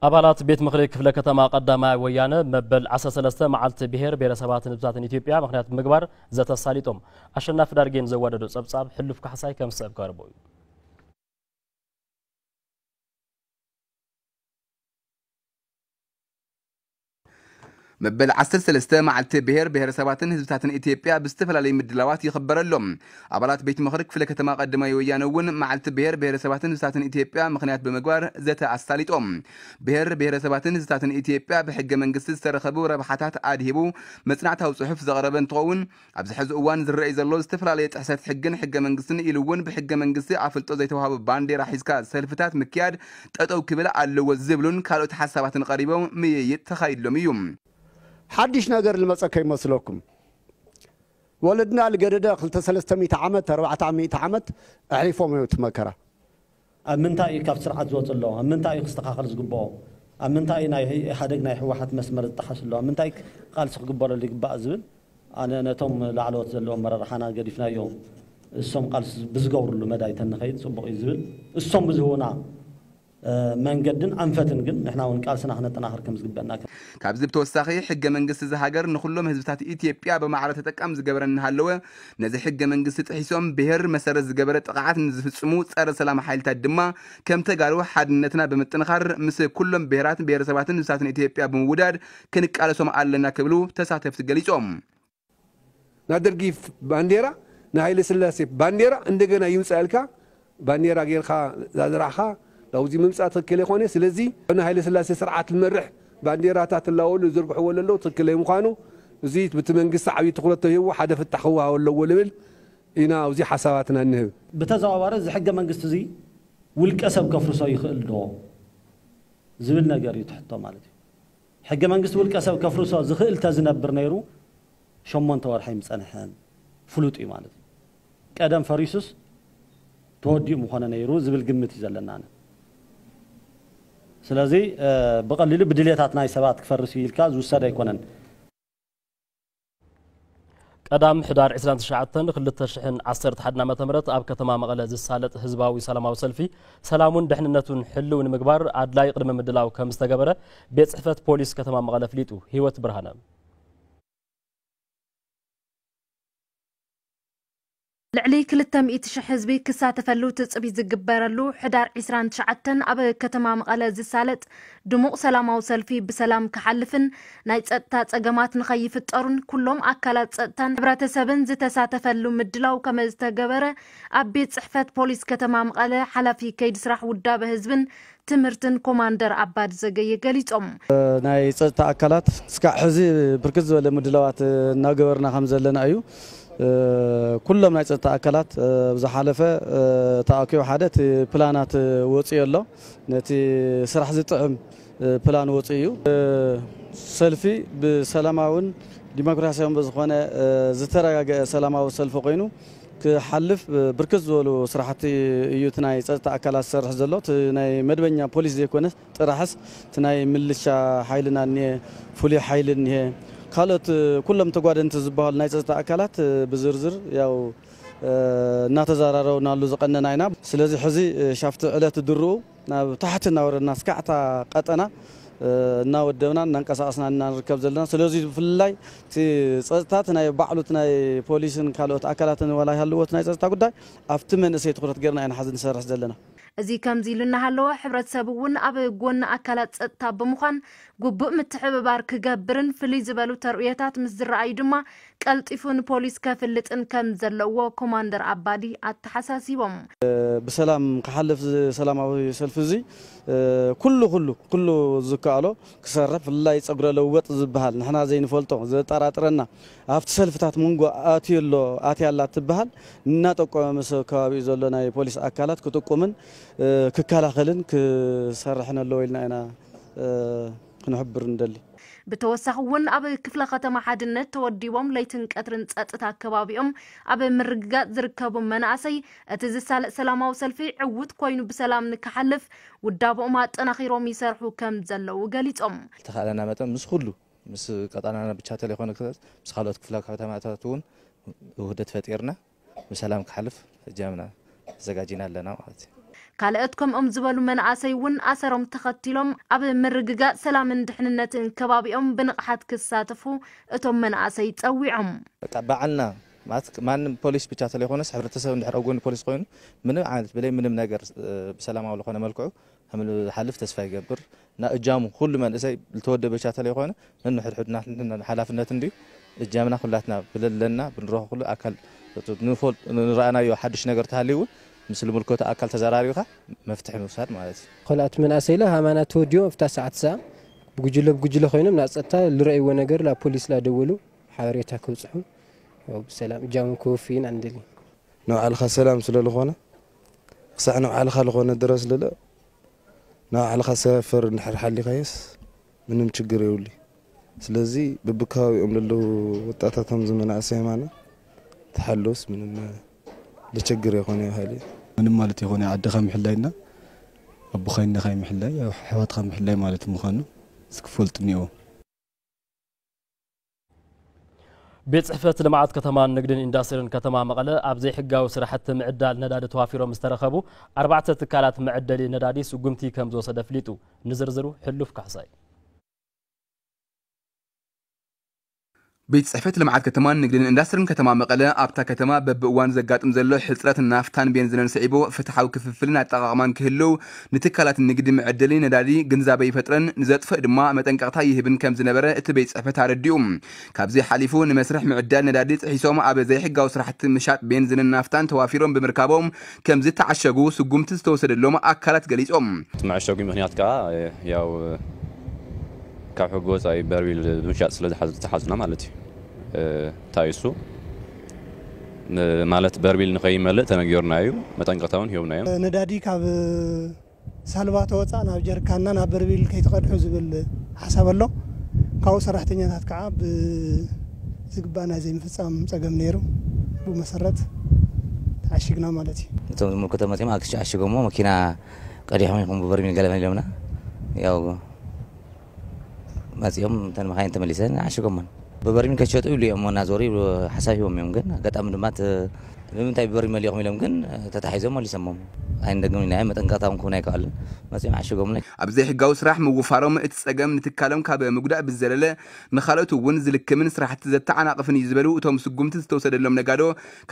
ኣባላት ቤት ምኽሪ ክፍለ ከተማ ቀዳማይ ወያነ መበል ዓሰርተ ሰለስተ መዓልቲ ብሄር ብሄረሰባትን ህዝብታትን ኢትዮጵያ ምኽንያት ብምግባር ዘተ ኣሳሊጦም። ኣሸናፊ ዳርጌን ዘዋደዶ ጸብጻብ ሕሉፍ ካሕሳይ ከም ዝስዕብ ክቐርቦ እዩ። መበል ዓሰርተ ሰለስተ መዓልቲ ብሄር ብሄረሰባትን ህዝብታትን ኢትዮጵያ ብዝተፈላለዩ ምድላዋት ይኽበር ኣሎ። ኣባላት ቤት ምኽሪ ክፍለ ከተማ ቀዳማይ ወያነ እውን መዓልቲ ብሄር ብሄረሰባትን ህዝብታትን ኢትዮጵያ ምኽንያት ብምግባር ዘተ ኣሳሊጦም። ብሄር ብሄረሰባትን ህዝብታትን ኢትዮጵያ ብሕገ መንግስቲ ዝተረኸቡ ረብሓታት ኣድሂቡ መፅናዕታዊ ፅሑፍ ዘቕረበ እንትኸውን፣ ኣብዚ ሕዚ እዋን ዝረኣይ ዘሎ ዝተፈላለየ ጥሕሰት ሕግን ሕገ መንግስትን ኢሉ እውን ብሕገ መንግስቲ ኣፍልጦ ዘይተዋህቦ ባንዴራ ሒዝካ ሰልፍታት ምክያድ ጠጠው ክብል ኣለዎ ዝብሉን ካልኦት ሓሳባትን ቀሪቦም ምይይጥ ተኻይድሎም እዩ። ሓድሽ ነገር ዝመፀ ከይመስለኩም። ወለድና ልገደደ ክልተ ሰለስተ ሚእቲ ዓመት፣ ኣርባዕተ ሚእቲ ዓመት ኣሕሊፎም እዮም እቲ መከራ። ኣብ ምንታይ እዩ ካብ ስርዓት ዝወፅ ኣሎ? ኣብ ምንታይ እዩ ክስተኻኸል ዝግብኦ? ኣብ ምንታይ እዩ ናይ ኢህኣደግ ናይ ህወሓት መስመር ዝጠሓስ ኣሎ? ኣብ ምንታይ ቃልሲ ክግበረሉ ይግባእ ዝብል ኣነ ነቶም ላዕለዎት ዘለዎም ኣመራርሓና ገዲፍናዮም እሶም ቃልሲ ብዝገብርሉ መዳይ ተንኸይድ ፅቡቕ እዩ ዝብል እሶም ብዝህቡና መንገድን ኣንፈትን ግን ንሕና እውን ቃልስና ክነጠናኽር ከም ዝግበአና። ካብዚ ብተወሳኺ ሕገ መንግስቲ እዚ ሃገር ንኹሎም ህዝብታት ኢትዮጵያ ብማዕረ ተጠቃሚ ዝገበረ እናሃለወ ነዚ ሕገ መንግስቲ ጥሒሶም ብሄር መሰረት ዝገበረ ጥቕዓት ንዝፍፅሙ ፀረ ሰላም ሓይልታት ድማ ከም ተጋሩ ሓድነትና ብምጥንኻር ምስ ኩሎም ብሄራት ብሄረሰባትን ህዝብታትን ኢትዮጵያ ብምውዳድ ክንቃለሶም ኣለና ክብሉ ተሳተፍቲ ገሊፆም። ናይ ደርጊ ባንዴራ ናይ ሃይለ ስላሴ ባንዴራ እንደገና ይውፃ ኢልካ ባንዴራ ጌርካ ዛዝራዕኻ ናብዚ ምምፃእ ትክክል ይኮነ። ስለዚ ናይ ሃይለ ስላሴ ስርዓት ዝመርሕ ባንዴራታት እላወሉ ዝርግሕዎ ለለዉ ትክክል ምዃኑ እዚ ብቲ መንግስቲ ዓብዪ ትኩረት ተሂቡ ሓደ ፍታሕ ክወሃቦ ኣለዎ ልብል ኢና ኣብዚ ሓሳባትና እንህብ። ብተዘዋዋሪ እዚ ሕገ መንግስቲ እዚ ውልቀ ሰብ ከፍርሶ ይኽእል ዶ ዝብል ነገር እዩ ትሕቶ ማለት እዩ። ሕገ መንግስቲ ውልቀ ሰብ ከፍርሶ ዝኽእል ተዝነብር ነይሩ ሸሞንተ ወርሒ ኣይምፀንሐን። ፍሉጥ እዩ ማለት እዩ። ቀደም ፈሪሱስ ተወዲኡ ምኾነ ነይሩ ዝብል ግምት እዩ ዘለና። ስለዚ ብቐሊሉ ብድሌታት ናይ ሰባት ክፈርስ እዩ ኢልካ ዝውሰድ ኣይኮነን። ቀዳም ሕዳር ዕስራን ትሽዓተን ክልተ ሽሕን ዓሰርተ ሓደን ዓመተ ምህረት ኣብ ከተማ መቐለ ዝሳለጥ ህዝባዊ ሰላማዊ ሰልፊ ሰላሙን ድሕንነቱን ሕልው ንምግባር ኣድላይ ቅድመ ምድላው ከም ዝተገበረ ቤት ጽሕፈት ፖሊስ ከተማ መቐለ ኣፍሊጡ። ህይወት ብርሃነ። ልዕሊ ክልተ ሚእቲ ሽሕ ህዝቢ ክሳተፈሉ ትጽቢት ዝግበረሉ ሕዳር ዕስራን ትሽዓተን ኣብ ከተማ መቐለ ዝሳለጥ ድሙቕ ሰላማዊ ሰልፊ ብሰላም ክሓልፍን ናይ ጸጥታ ጸገማት ንኸይፍጠሩን ኩሎም ኣካላት ጸጥታን ሕብረተሰብን ዝተሳተፈሉ ምድላው ከመዝተገበረ ኣብ ቤት ጽሕፈት ፖሊስ ከተማ መቐለ ሓላፊ ከይዲ ስራሕ ውዳበ ህዝብን ትምህርትን ኮማንደር ኣባዲ ዘገየ ገሊጾም። ናይ ጸጥታ ኣካላት እስካዕ ሕዚ ብርክት ዝበለ ምድላዋት እናገበርና ከም ዘለና እዩ። ኩሎም ናይ ጸጥታ ኣካላት ዝሓለፈ ተኣኪቡ ሓደ እቲ ፕላናት ወፂኡ ኣሎ። ነቲ ስራሕ ዝጥዕም ፕላን ወፂኡ እዩ። ሰልፊ ብሰላማውን ዲሞክራሲያውን ብዝኾነ ዝተረጋገአ ሰላማዊ ሰልፊ ኮይኑ ክሓልፍ ብርክት ዝበሉ ስራሕቲ እዩ እቲ ናይ ፀጥታ ኣካላት ዝሰርሕ ዘሎ። እቲ ናይ መደበኛ ፖሊስ ዘይኮነ ጥራሕስ እቲ ናይ ምልሻ ሓይልና እኒሀ፣ ፍሉይ ሓይሊ እኒሀ፣ ካልኦት ኩሎም ተጓደንቲ ዝበሃሉ ናይ ፀጥታ ኣካላት ብዝርዝር ያው እናተዘራረብናሉ ዝቐነና ኢና። ስለዚ ሕዚ ሻፍቲ ዕለት ድርኡ ናብ ታሕቲ እናወረድና እስካዕ እታ ቀጠና እናወደብና እናንቀሳቐስና ኢና ንርከብ ዘለና። ስለዚ ብፍላይ እቲ ፀጥታ እቲ ናይ ባዕሉ እቲ ናይ ፖሊስን ካልኦት ኣካላትን ዋላ ይሃልዎ እቲ ናይ ፀጥታ ጉዳይ ኣብቲ መንእሰይ ትኹረት ጌርና ኢና ሕዚ ንሰርሕ ዘለና። እዚ ከምዚ ኢሉ እናሃለወ ሕብረተሰብ እውን ኣብ ጎኒ ኣካላት ፀጥታ ብምዃን ግቡእ ምትሕብባር ክገብርን ፍልይ ዝበሉ ተርእዮታት ምስ ዝረኣዩ ድማ ቀልጢፉ ንፖሊስ ከፍልጥን ከም ዘለዎ ኮማንደር ኣባዲ ኣተሓሳሲቦም። ብሰላም ክሓልፍ እዚ ሰላማዊ ሰልፊ እዚ ኩሉ ኩሉ ኩሉ ዝከኣሎ ክሰርሕ ብፍላይ ፀጉረ ለወጥ ዝበሃል ንሕና ዘይንፈልጦ ዘጠራጥረና ኣብቲ ሰልፍታት መንጎ ኣትዩ ኣሎ ኣትያ ኣላ ትበሃል እናጠቆመ ምስ ከባቢኡ ዘሎ ናይ ፖሊስ ኣካላት ክጥቁምን ክከላኸልን ክሰርሕን ኣለዎ ኢልና ኢና ክንሕብር ንደሊ። ብተወሳኺ እውን ኣብ ክፍለ ከተማ ሓድነት ተወዲቦም ለይትን ቀትርን ፀጥታ ከባቢኦም ኣብ ምርግጋፅ ዝርከቡ መናእሰይ እቲ ዝሳለጥ ሰላማዊ ሰልፊ ዕውት ኮይኑ ብሰላም ንክሓልፍ ውዳብኦም ኣጠናኺሮም ይሰርሑ ከም ዘለዉ ገሊፆም። ዝተኻእለና መጠን ምስ ኩሉ ምስ ቀጠናና ብቻ ተለይኮነ ምስ ካልኦት ክፍለ ከተማታት እውን ውህደት ፈጢርና ብሰላም ክሓልፍ እጃምና ተዘጋጂና ኣለና ማለት እዩ። ካልኦት ከምኦም ዝበሉ መናእሰይ እውን ኣሰሮም ተኸቲሎም ኣብ ምርግጋፅ ሰላምን ድሕንነትን ከባቢኦም ብንቕሓት ክሳተፉ እቶም መናእሰይ ፀዊዖም። በቃ ባዕልና ማለት ማንም ፖሊስ ብቻ ተለይኮነስ ሕብረተሰብ እንድሕር ኣብ ጎኒ ፖሊስ ኮይኑ ምንም ዓይነት ብለይ ምንም ነገር ብሰላማዊ ዝኾነ መልክዑ ከም ዝሓልፍ ተስፋ ይገብር። እና እጃሙ ኩሉ መንእሰይ ዝተወደበ ቻተል የኮነ ነንሕድሕድና ንሕና ሓላፍነት እንድዩ። እጃምና ኩላትና ብለለና ብንረኾ ኩሉ ኣካል ንፈልጥ ንረኣናዮ ሓድሽ ነገር ተሃልዩ እውን ምስ ዝምልከቶ ኣካል ተዘራሪብካ መፍትሒ ምውሳድ ማለት እዩ። ካልኣት መናእሰይ ላ ሃማና ተወዲቦም ኣብታ ሰዓት ሰዓ ብጉጅለ ብጉጅለ ኮይኖም ናብ ፀጥታ ልረእይዎ ነገር ላ ፖሊስ ላ ደወሉ ሓበሬታ ክብፅሑ ያው ብሰላም እጃሞም ክወፍዩን ኣንደሊ። ንባዕልኻ ሰላም ስለልኾነ ክሳዕ ንባዕልኻ ልኾነ ድረስ ልለ ንባዕልኻ ሰፈር እንድሕር ሓሊኻዮስ ምንም ችግር የብሉ። ስለዚ በብከባቢኦም ለለዉ ወጣታት ከምዚ መናእሰይ የማና ተሓለውስ ምንም ልቸግር የኾነ ይበሃል እዩ። ምንም ማለት የኾነ ዓድኻ ምሕላይና ኣቦኻይነኻይ ምሕላይ ኣሕዋትኻ ምሕላይ ማለት ምዃኑ እስክፈልጡ እኒኦ። ቤት ጽሕፈት ልምዓት ከተማን ንግድን ኢንዳስትሪን ከተማ መቐለ ኣብ ዘይሕጋዊ ስራሕቲ ምዕዳል ነዳዲ ተዋፊሮም ዝተረኸቡ ኣርባዕተ ትካላት መዐደሊ ነዳዲ ስጉምቲ ከም ዝወሰደ ኣፍሊጡ። ንዝርዝሩ ሕሉፍ ካሕሳይ። ቤት ጽሕፈት ልምዓት ከተማን ንግድን ኢንዳስትሪን ከተማ መቐለ ኣብታ ከተማ በብእዋኑ ዘጋጥም ዘሎ ሕጽረት ናፍታን ቤንዚንን ስዒቡ ፍትሓዊ ክፍፍልን ኣጠቓቕማን ክህልው ንትካላት ንግዲ መዐደሊ ነዳዲ ግንዛበ ይፈጥረን ንዘጥፍእ ድማ መጠንቀቕታ ይህብን ከም ዝነበረ እቲ ቤት ጽሕፈት ኣረዲኡ። ካብዚ ሓሊፉ ንመስርሕ ምዕዳል ነዳዲ ጥሒሶም ኣብ ዘይሕጋዊ ስራሕቲ ምሻጥ ቤንዚንን ናፍታን ተዋፊሮም ብምርካቦም ከም ዝተዓሸጉ ስጉምቲ ዝተወሰደሎም ኣካላት ገሊጾም። እቲ መዐሸጉ ምኽንያት ከዓ ያው ካብ ሕጊ ወፃኢ በርሚል ብምሻጥ ስለ ዝተሓዙና ማለት እዩ። እንታይ እሱ ማለት በርሚል ንኸይመልእ ተነጊርና እዩ፣ መጠንቀቕታ እውን ሂቦምና እዮም። ነዳዲ ካብ ሳልባ ተወፃእ ናብ ጀርካንና ናብ በርሚል ከይትቐድሑ ዝብል ሓሳብ ኣሎ። ካብኡ ሰራሕተኛታት ከዓ ብዝግባእ ናይ ዘይምፍፃም ፀገም ነይሩ። ብኡ መሰረት ተዓሺግና ማለት እዩ። እቶም ዝምልከቶም መፂኦም ኣግሽ ዓሽጎሞ መኪና ቀዲሖም ኢኹም ብበርሚል ገለመል ኢሎምና። ያው መፂኦም እተን መኻይን ተመሊሰን ዓሽጎሞን ብበርሚል ከትሸጡ ይብሉ እዮም እናዞሩ ይብሉ ሓሳብ ሂቦም እዮም። ግን ኣጋጣሚ ድማ እቲ ንምንታይ ብበርሚል መሊእኹም ኢሎም ግን ተታሒዞም መሊሶሞም። ኣይንደግም ኢልና እዮም መጠንቀቕታ እውን ክህቡና ኣይከኣሉን። መፂኦም ዓሽጎምና። ኣብ ዘይሕጋዊ ስራሕ ምውፋሮም እቲ ፀገም ንትካሎም ካብ ምጉዳእ ብዝዘለለ ንኻልኦት እውን ዝልክምን ስራሕቲ ዘተዓናቕፍን እዩ ዝበሉ እቶም ስጉምቲ ዝተወሰደሎም ነጋዶ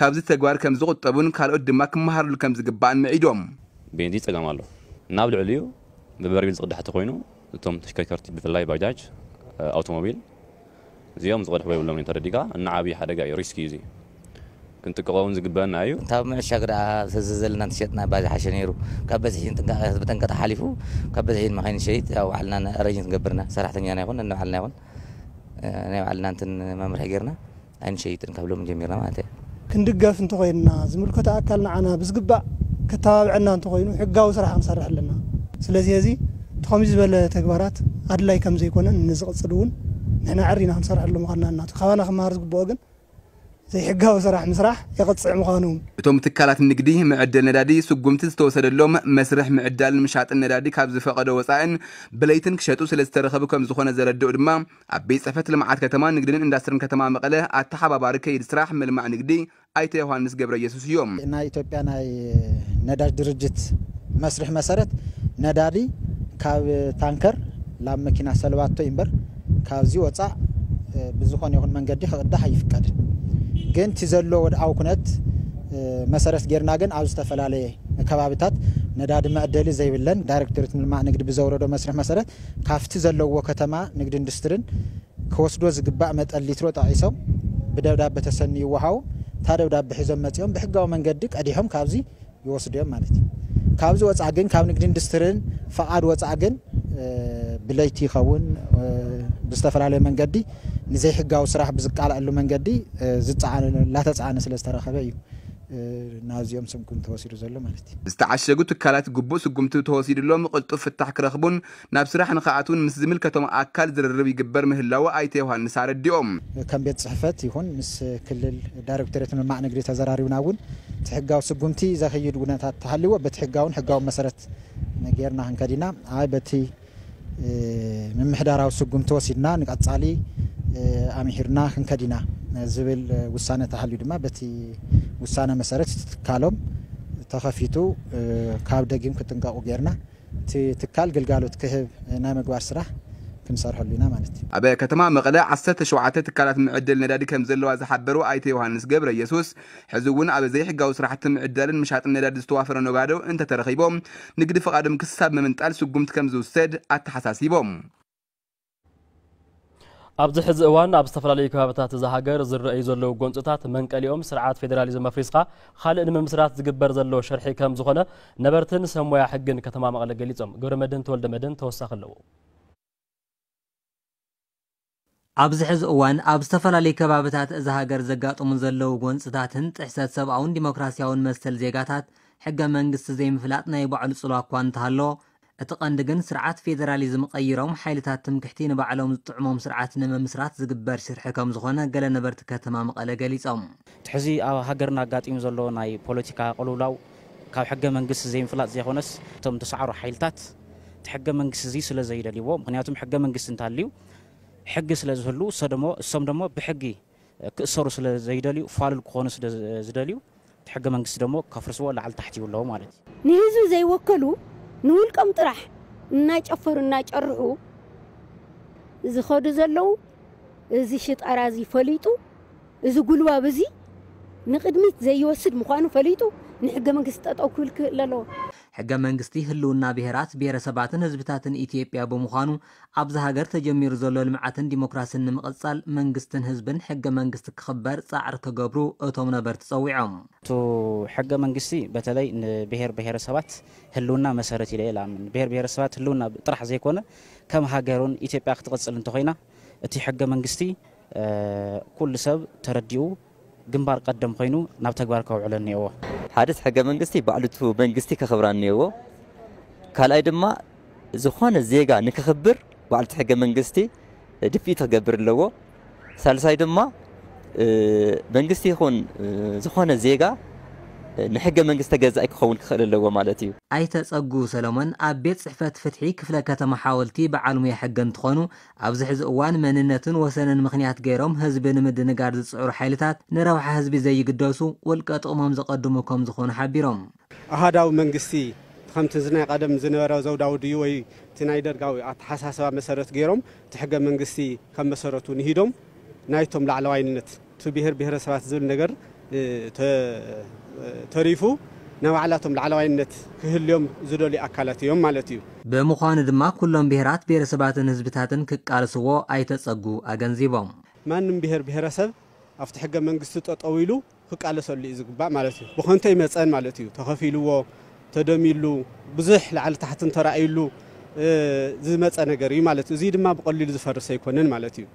ካብዚ ተግባር ከም ዝቑጠቡን ካልኦት ድማ ክመሃርሉ ከም ዝግባእን ምዒዶም። ቤንዚን ፀገም ኣሎ። ናብ ልዕሊኡ ብበርሚል ዝቕዳሕ እንተኾይኑ እቶም ተሽከርከርቲ ብፍላይ ባጃጅ፣ ኣውቶሞቢል እዚኦም ዝቐድሕዎ የብሎም እዮም ተረዲእካ። እናዓብየ ሓደጋ እዩ፣ ሪስክ እዩ እዚ። ክንጥቀቖ እውን ዝግበአና እዩ። ካብ ምዕሻግ ደኣ ተዘዘልና እንተሸጥና እባ ዝሓሸ ነይሩ። ካብ በዝሒ ጥንቃቐ ብጠንቀ ተሓሊፉ ካብ በዝሒ ንመኻይን ንሸይጥ ያው ባዕልና ኣረይንት ንገብርና ሰራሕተኛና ይኹን ነንባዕልና ይኹን ናይ ባዕልና እንትን መምርሒ ጌርና ኣይንሸይጥን ካብ ሎም ጀሚርና ማለት እያ። ክንድገፍ እንተኾይንና ዝምልከቶ ኣካል ንዓና ብዝግባእ ከተባብዐና እንተኾይኑ ሕጋዊ ስራሕ ክንሰርሕ ኣለና። ስለዚ እዚ እቲ ከምዚ ዝበለ ተግባራት ኣድላይ ከም ዘይኮነን ንዝቕፅል እውን ንሕና ዕሪና ክንሰርሐሉ ምዃንና እናቱ ካባና ክመሃር ዝግብኦ ግን ዘይሕጋዊ ስራሕ ምስራሕ የቕፅዕ ምዃኑ። እቶም ትካላት ንግዲ መዐደል ነዳዲ ስጉምቲ ዝተወሰደሎም መስርሕ ምዕዳልን ምሻጥን ነዳዲ ካብ ዝፈቐዶ ወፃእን ብለይትን ክሸጡ ስለ ዝተረኸቡ ከም ዝኾነ ዘረድኡ ድማ ኣብ ቤት ፅሕፈት ልምዓት ከተማ ንግድን ኢንዳስትርን ከተማ መቐለ ኣተሓባባሪ ከይዲ ስራሕ ምልማዕ ንግዲ ኣይተ ዮሃንስ ገብረየሱስ እዮም። ናይ ኢትዮጵያ ናይ ነዳጅ ድርጅት መስርሕ መሰረት ነዳዲ ካብ ታንከር ላብ መኪና ሰልባቶ እምበር ካብዚ ወፃእ ብዝኾነ ይኹን መንገዲ ክቕዳሕ ኣይፍቀድን። ግን እቲ ዘሎ ወድዓዊ ኩነት መሰረት ጌርና ግን ኣብ ዝተፈላለየ ከባቢታት ነዳዲ መዕደሊ ዘይብለን ዳይሬክቶሬት ምልማዕ ንግዲ ብዘውረዶ መስርሕ መሰረት ካብቲ ዘለዎ ከተማ ንግዲ ኢንዱስትሪን ክወስዶ ዝግባእ መጠን ሊትሮ ጠቒሶም ብደብዳበ ተሰንዩ ይወሃቡ። እታ ደብዳበ ሒዞም መፂኦም ብሕጋዊ መንገዲ ቀዲሖም ካብዚ ይወስዱ እዮም ማለት እዩ። ካብዚ ወፃእ ግን ካብ ንግዲ ኢንዱስትሪን ፈቓድ ወፃእ ግን ብለይቲ ይኸውን ብዝተፈላለየ መንገዲ ንዘይሕጋዊ ስራሕ ብዝቃላኣሉ መንገዲ ዝፀዓነ እናተፀዓነ ስለ ዝተረኸበ እዩ። ናዚኦም ስጉምቲ ተወሲዱ ዘሎ ማለት እዩ። ዝተዓሸጉ ትካላት ግቡእ ስጉምቲ ተወሲድሎም ቅልጡፍ ፍታሕ ክረኽቡን ናብ ስራሕ ንክኣትውን ምስ ዝምልከቶም ኣካል ዝርርብ ይግበር ምህላው ኣይተ ዮሃንስ ኣረዲኦም። ከም ቤት ፅሕፈት ይኹን ምስ ክልል ዳይሬክቶሬት ምልማዕ ንግዲ ተዘራሪብና እውን እቲ ሕጋዊ ስጉምቲ ዘኽይድ ኩነታት ተሃልዎ በቲ ሕጋውን ሕጋዊ መሰረት ጌርና ክንከድ ኢና። ኣይ በቲ ምምሕዳራዊ ስጉምቲ ወሲድና ንቀፃሊ ኣምሂርና ክንከድ ኢና ዝብል ውሳነ ተሃልዩ ድማ በቲ ውሳነ መሰረት እቲ ትካሎም ተኸፊቱ ካብ ደጊም ክጥንቀቁ ጌርና እቲ ትካል ግልጋሎት ክህብ ናይ ምግባር ስራሕ ክንሰርሐሉ ኢና ማለት እዩ። ኣብ ከተማ መቐለ ዓሰርተ ሸውዓተ ትካላት ምዕድል ነዳዲ ከም ዘለዋ ዝሓበሩ ኣይተ ዮሃንስ ገብረ ኢየሱስ ሕዚ እውን ኣብ ዘይሕጋዊ ስራሕቲ ምዕዳልን ምሻጥን ነዳዲ ዝተዋፈረ ነጋዶ እንተተረኺቦም ንግዲ ፍቓዶም ክሳብ ምምንጣል ስጉምቲ ከም ዝውሰድ ኣተሓሳሲቦም። ኣብዚ ሕዚ እዋን ኣብ ዝተፈላለዩ ከባብታት እዛ ሃገር ዝረኣዩ ዘለዉ ጎንፅታት መንቀሊኦም ስርዓት ፌዴራሊዝም ኣፍሪስካ ካልእ ንምምስራት ዝግበር ዘሎ ሽርሒ ከም ዝኾነ ነበርትን ሰብ ሞያ ሕግን ከተማ መቐለ ገሊፆም። ገብረመድህን ተወልደመድህን ተወሳኺ ኣለዎ። ኣብዚ ሕዚ እዋን ኣብ ዝተፈላለዩ ከባብታት እዛ ሃገር ዘጋጥሙ ዘለዉ ጎንፅታትን ጥሕሰት ሰብኣውን ዲሞክራሲያውን መሰል ዜጋታት ሕገ መንግስቲ ዘይምፍላጥ ናይ ባዕሉ ፅልዋ እኳ እንተሃለዎ፣ እቲ ቀንዲ ግን ስርዓት ፌደራሊዝም ቀይሮም ሓይልታት ትምክሕቲ ንባዕሎም ዝጥዕሞም ስርዓት ንምምስራት ዝግበር ሽርሒ ከም ዝኾነ ገለ ነበርቲ ከተማ መቐለ ገሊፆም። እቲ ሕዚ ኣብ ሃገርና ኣጋጢሙ ዘሎ ናይ ፖለቲካ ቅልውላው ካብ ሕገ መንግስቲ ዘይምፍላጥ ዘይኮነስ እቶም ዝሰዓሩ ሓይልታት እቲ ሕገ መንግስቲ እዚ ስለ ዘይደልይዎ፣ ምክንያቱም ሕገ መንግስቲ እንተሃልዩ ሕጊ ስለ ዝህሉ እሶ ደሞ እሶም ደሞ ብሕጊ ክእሰሩ ስለ ዘይደልዩ ፋሉል ክኾኑ ስለ ዝደልዩ እቲ ሕገ መንግስቲ ደሞ ከፍርስዎ ላዕሊ ታሕቲ ይብለዎ ማለት እዩ። ንህዝቢ ዘይወከሉ ንውልቆም ጥራሕ እናጨፈሩ እናጨርሑ ዝኸዱ ዘለዉ እዚ ሽጣራ እዚ ፈሊጡ እዚ ጉልባብ እዚ ንቕድሚት ዘይወስድ ምዃኑ ፈሊጡ ንሕገ መንግስቲ ጠጠው ክብል ክኽእል ኣለዎ። ሕገ መንግስቲ ህልውና ብሄራት፣ ብሄረሰባትን ህዝብታትን ኢትዮጵያ ብምዃኑ ኣብዚ ሃገር ተጀሚሩ ዘሎ ልምዓትን ዲሞክራስን ንምቕፃል መንግስትን ህዝብን ሕገ መንግስቲ ክኽበር ፃዕሪ ክገብሩ እቶም ነበርቲ ፀዊዖም። እቱ ሕገ መንግስቲ በተለይ ንብሄር ብሄረሰባት ህልውና መሰረት ኢለ እየ ልኣምን። ብሄር ብሄረሰባት ህልውና ጥራሕ ዘይኮነ ከም ሃገር እውን ኢትዮጵያ ክትቕፅል እንተኾይና እቲ ሕገ መንግስቲ ኩሉ ሰብ ተረዲኡ ግንባር ቀደም ኮይኑ ናብ ተግባር ከውዕሎ እኒኦዎ። ሓደ እቲ ሕገ መንግስቲ ባዕሉ እቲ መንግስቲ ከኽብራ እኒኦዎ። ካልኣይ ድማ ዝኾነ ዜጋ ንክኽብር ባዕሉ እቲ ሕገ መንግስቲ ድፍኢት ክገብር ኣለዎ። ሳልሳይ ድማ መንግስቲ ይኹን ዝኾነ ዜጋ ንሕገ መንግስቲ ተገዛኢ ክኸውን ክኽእል ኣለዎ ማለት እዩ። ኣይተ ጸጉ ሰለሞን ኣብ ቤት ጽሕፈት ፍትሒ ክፍለ ከተማ ሓወልቲ በዓል ሙያ ሕጊ እንትኾኑ ኣብዚ ሕዚ እዋን መንነትን ወሰንን ምኽንያት ገይሮም ህዝቢ ንምድንጋር ዝፅዕሩ ሓይልታት ንረብሓ ህዝቢ ዘይግደሱ ውልቀ ጥቕሞም ዘቐድሙ ከም ዝኾኑ ሓቢሮም። ኣሃዳዊ መንግስቲ ከምቲ እዚ ናይ ቀደም ዝነበረ ዘውዳዊ ድዩ ወይ እቲ ናይ ደርጋዊ ኣተሓሳስባ መሰረት ገይሮም እቲ ሕገ መንግስቲ ከም መሰረቱ ንሂዶም ናይቶም ላዕለዋይነት እቲ ብሄር ብሄረሰባት ዝብል ነገር ተሪፉ ናይ ባዕላቶም ላዕለዋይነት ክህልዮም ዝደልዩ ኣካላት እዮም ማለት እዩ። ብምዃኑ ድማ ኩሎም ብሄራት ብሄረሰባትን ህዝብታትን ክቃለስዎ ኣይተጸጉ ኣገንዚቦም። ማንም ብሄር ብሄረሰብ ኣብቲ ሕገ መንግስቲ ጠጠው ኢሉ ክቃለሰሉ እዩ ዝግባእ ማለት እዩ። ብኸንቶ ይመፀን ማለት እዩ። ተኸፊልዎ ተደሚሉ ብዙሕ ላዕሊ ታሕትን ተራእዩሉ ዝመፀ ነገር እዩ ማለት እዩ። እዚ ድማ ብቐሊሉ ዝፈርስ ኣይኮነን ማለት እዩ።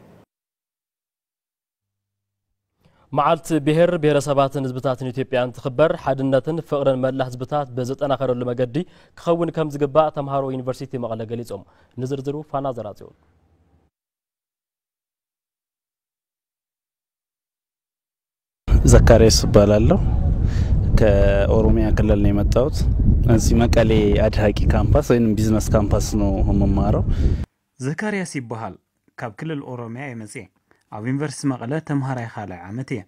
መዓልቲ ብሄር ብሄረሰባትን ህዝብታትን ኢትዮጵያ እንትኽበር ሓድነትን ፍቕርን መላ ህዝብታት ብዝጠናኸረሉ መገዲ ክኸውን ከም ዝግባእ ተምሃሮ ዩኒቨርሲቲ መቐለ ገሊፆም። ንዝርዝሩ ፋና ዘራፅዮን። ዘካርያስ እባላለሁ። ከኦሮሚያ ክልል ነው የመጣሁት። እዚህ መቀሌ አድሃቂ ካምፓስ ወይም ቢዝነስ ካምፓስ ነው የምማረው። ዘካርያስ ይበሃል። ካብ ክልል ኦሮሚያ እየ መፅየ። ኣብ ዩኒቨርሲቲ መቐለ ተምሃራይ ካልኣይ ዓመት እየ።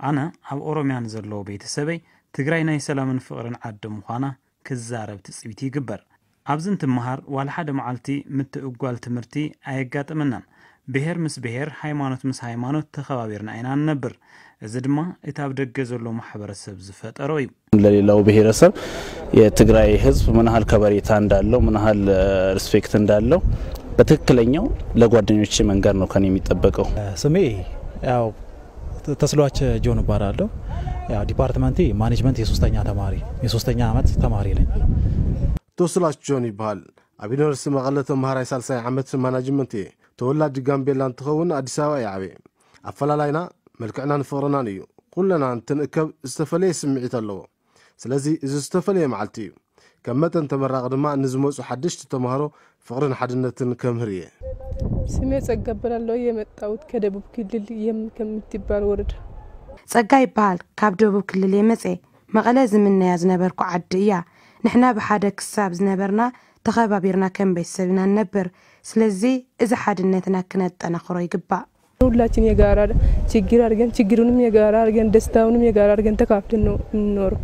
ኣነ ኣብ ኦሮሚያ ንዘለዉ ቤተሰበይ ትግራይ ናይ ሰላምን ፍቕርን ዓዲ ምዃና ክዛረብ ትፅቢት ይግበር። ኣብዚ እንትመሃር ዋላ ሓደ መዓልቲ ምትእጓል ትምህርቲ ኣየጋጠመናን። ብሄር ምስ ብሄር፣ ሃይማኖት ምስ ሃይማኖት ተኸባቢርና ኢና ንነብር። እዚ ድማ እቲ ኣብ ደገ ዘሎ ማሕበረሰብ ዝፈጠሮ እዩ። ለሌላው ብሄረሰብ የትግራይ ህዝብ ምን ያህል ከበሬታ እንዳለው ምን ያህል ሪስፔክት እንዳለው በትክክለኛው ለጓደኞቼ መንገር ነው ከኔ የሚጠበቀው። ስሜ ያው ተስሏች ጆን እባላለሁ። ያው ዲፓርትመንቴ ማኔጅመንት የሶስተኛ ተማሪ የሶስተኛ ዓመት ተማሪ ነኝ። ተስሏች ጆን ይበሃል። ኣብ ዩኒቨርሲቲ መቐለ ተምሃራይ ሳልሳይ ዓመት ማናጅመንት እየ። ተወላዲ ጋምቤላ እንትኸውን ኣዲስ ኣበባ እየ ዓብየ። ኣፈላላይና መልክዕናን ፍቕርናን እዩ። ኩለና እንትንእከብ ዝተፈለየ ስምዒት ኣለዎ። ስለዚ እዚ ዝተፈለየ መዓልቲ እዩ። ከም መጠን ተመራቒ ድማ ንዝመጹ ሓደሽቲ ተምሃሮ ፍቕርን ሓድነትን ከምህር እየ። ስሜ ጸጋ እባላለሁ። የመጣሁት ከደቡብ ክልል የም ከምትባል ወረዳ። ጸጋ ይበሃል። ካብ ደቡብ ክልል የመጸ። መቐለ ዝምነያ ዝነበርኩ ዓዲ እያ። ንሕና ብሓደ ክሳብ ዝነበርና ተኸባቢርና ከም ቤተሰብ ኢና ንነብር። ስለዚ እዚ ሓድነትና ክነጠናኽሮ ይግባእ። ሁላችን የጋራ ችግር አድርገን ችግሩንም የጋራ አድርገን ደስታውንም የጋራ አድርገን ተካፍለን ነው የምንኖረው።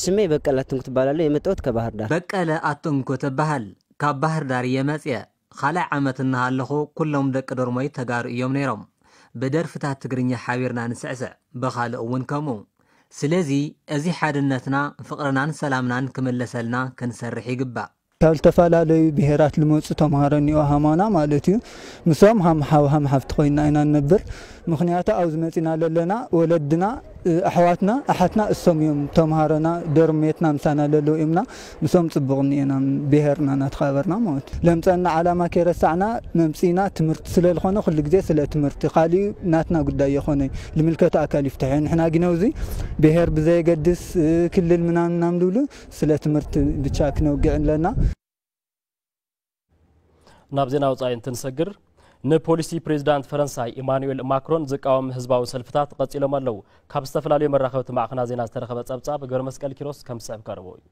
ስሜ በቀለ አትንኩ ትባላለሁ። የመጣሁት ከባህር ዳር። በቀለ ኣትንኩ ትበሃል። ካብ ባህር ዳር እየ መጽየ። ካልኣይ ዓመት እናሃለኹ ኩሎም ደቂ ዶርሞይ ተጋሩ እዮም ነይሮም። ብደርፍታት ትግርኛ ሓቢርና ንስዕስዕ፣ ብኻልእ እውን ከምኡ። ስለዚ እዚ ሓድነትና፣ ፍቕርናን ሰላምናን ክምለሰልና ክንሰርሕ ይግባእ። ካብ ዝተፈላለዩ ብሄራት ልመፁ ተምሃሮ እኒኦ ሃማና ማለት እዩ። ምሶም ሃም ሓው ሃም ሓፍቲ ኮይና ኢና ንነብር። ምኽንያቱ ኣብዚ መፂና ለለና ወለድና፣ ኣሕዋትና፣ ኣሓትና እሶም እዮም ተምሃሮና፣ ዶርሜትና ምሳና ለለዉ እዮምና። ምሶም ፅቡቕ እኒኤና ብሄርና እናተኸባበርና ማለት እዩ። ለምፀና ዓላማ ከይረሳዕና መምፅእና ትምህርቲ ስለልኾነ ኩሉ ግዜ ስለ ትምህርቲ ካሊኡ ናትና ጉዳይ የኾነ ልምልከቱ ኣካል ይፍትሐ። ንሕና ግን ኣብዚ ብሄር ብዘየገድስ ክልል ምናምን ምናምን ዝብሉ ስለ ትምህርቲ ብቻ ክነውግዕ ኣለና። ናብ ዜና ወፃኢ እንትንሰግር ንፖሊሲ ፕሬዚዳንት ፈረንሳይ ኢማኑኤል ማክሮን ዝቃወም ህዝባዊ ሰልፍታት ቀፂሎም ኣለዉ። ካብ ዝተፈላለዩ መራኸብቲ ማዕኸናት ዜና ዝተረኸበ ፀብፃብ ገብረ መስቀል ኪሮስ ከም ዝስዕብ ቀርቦ እዩ።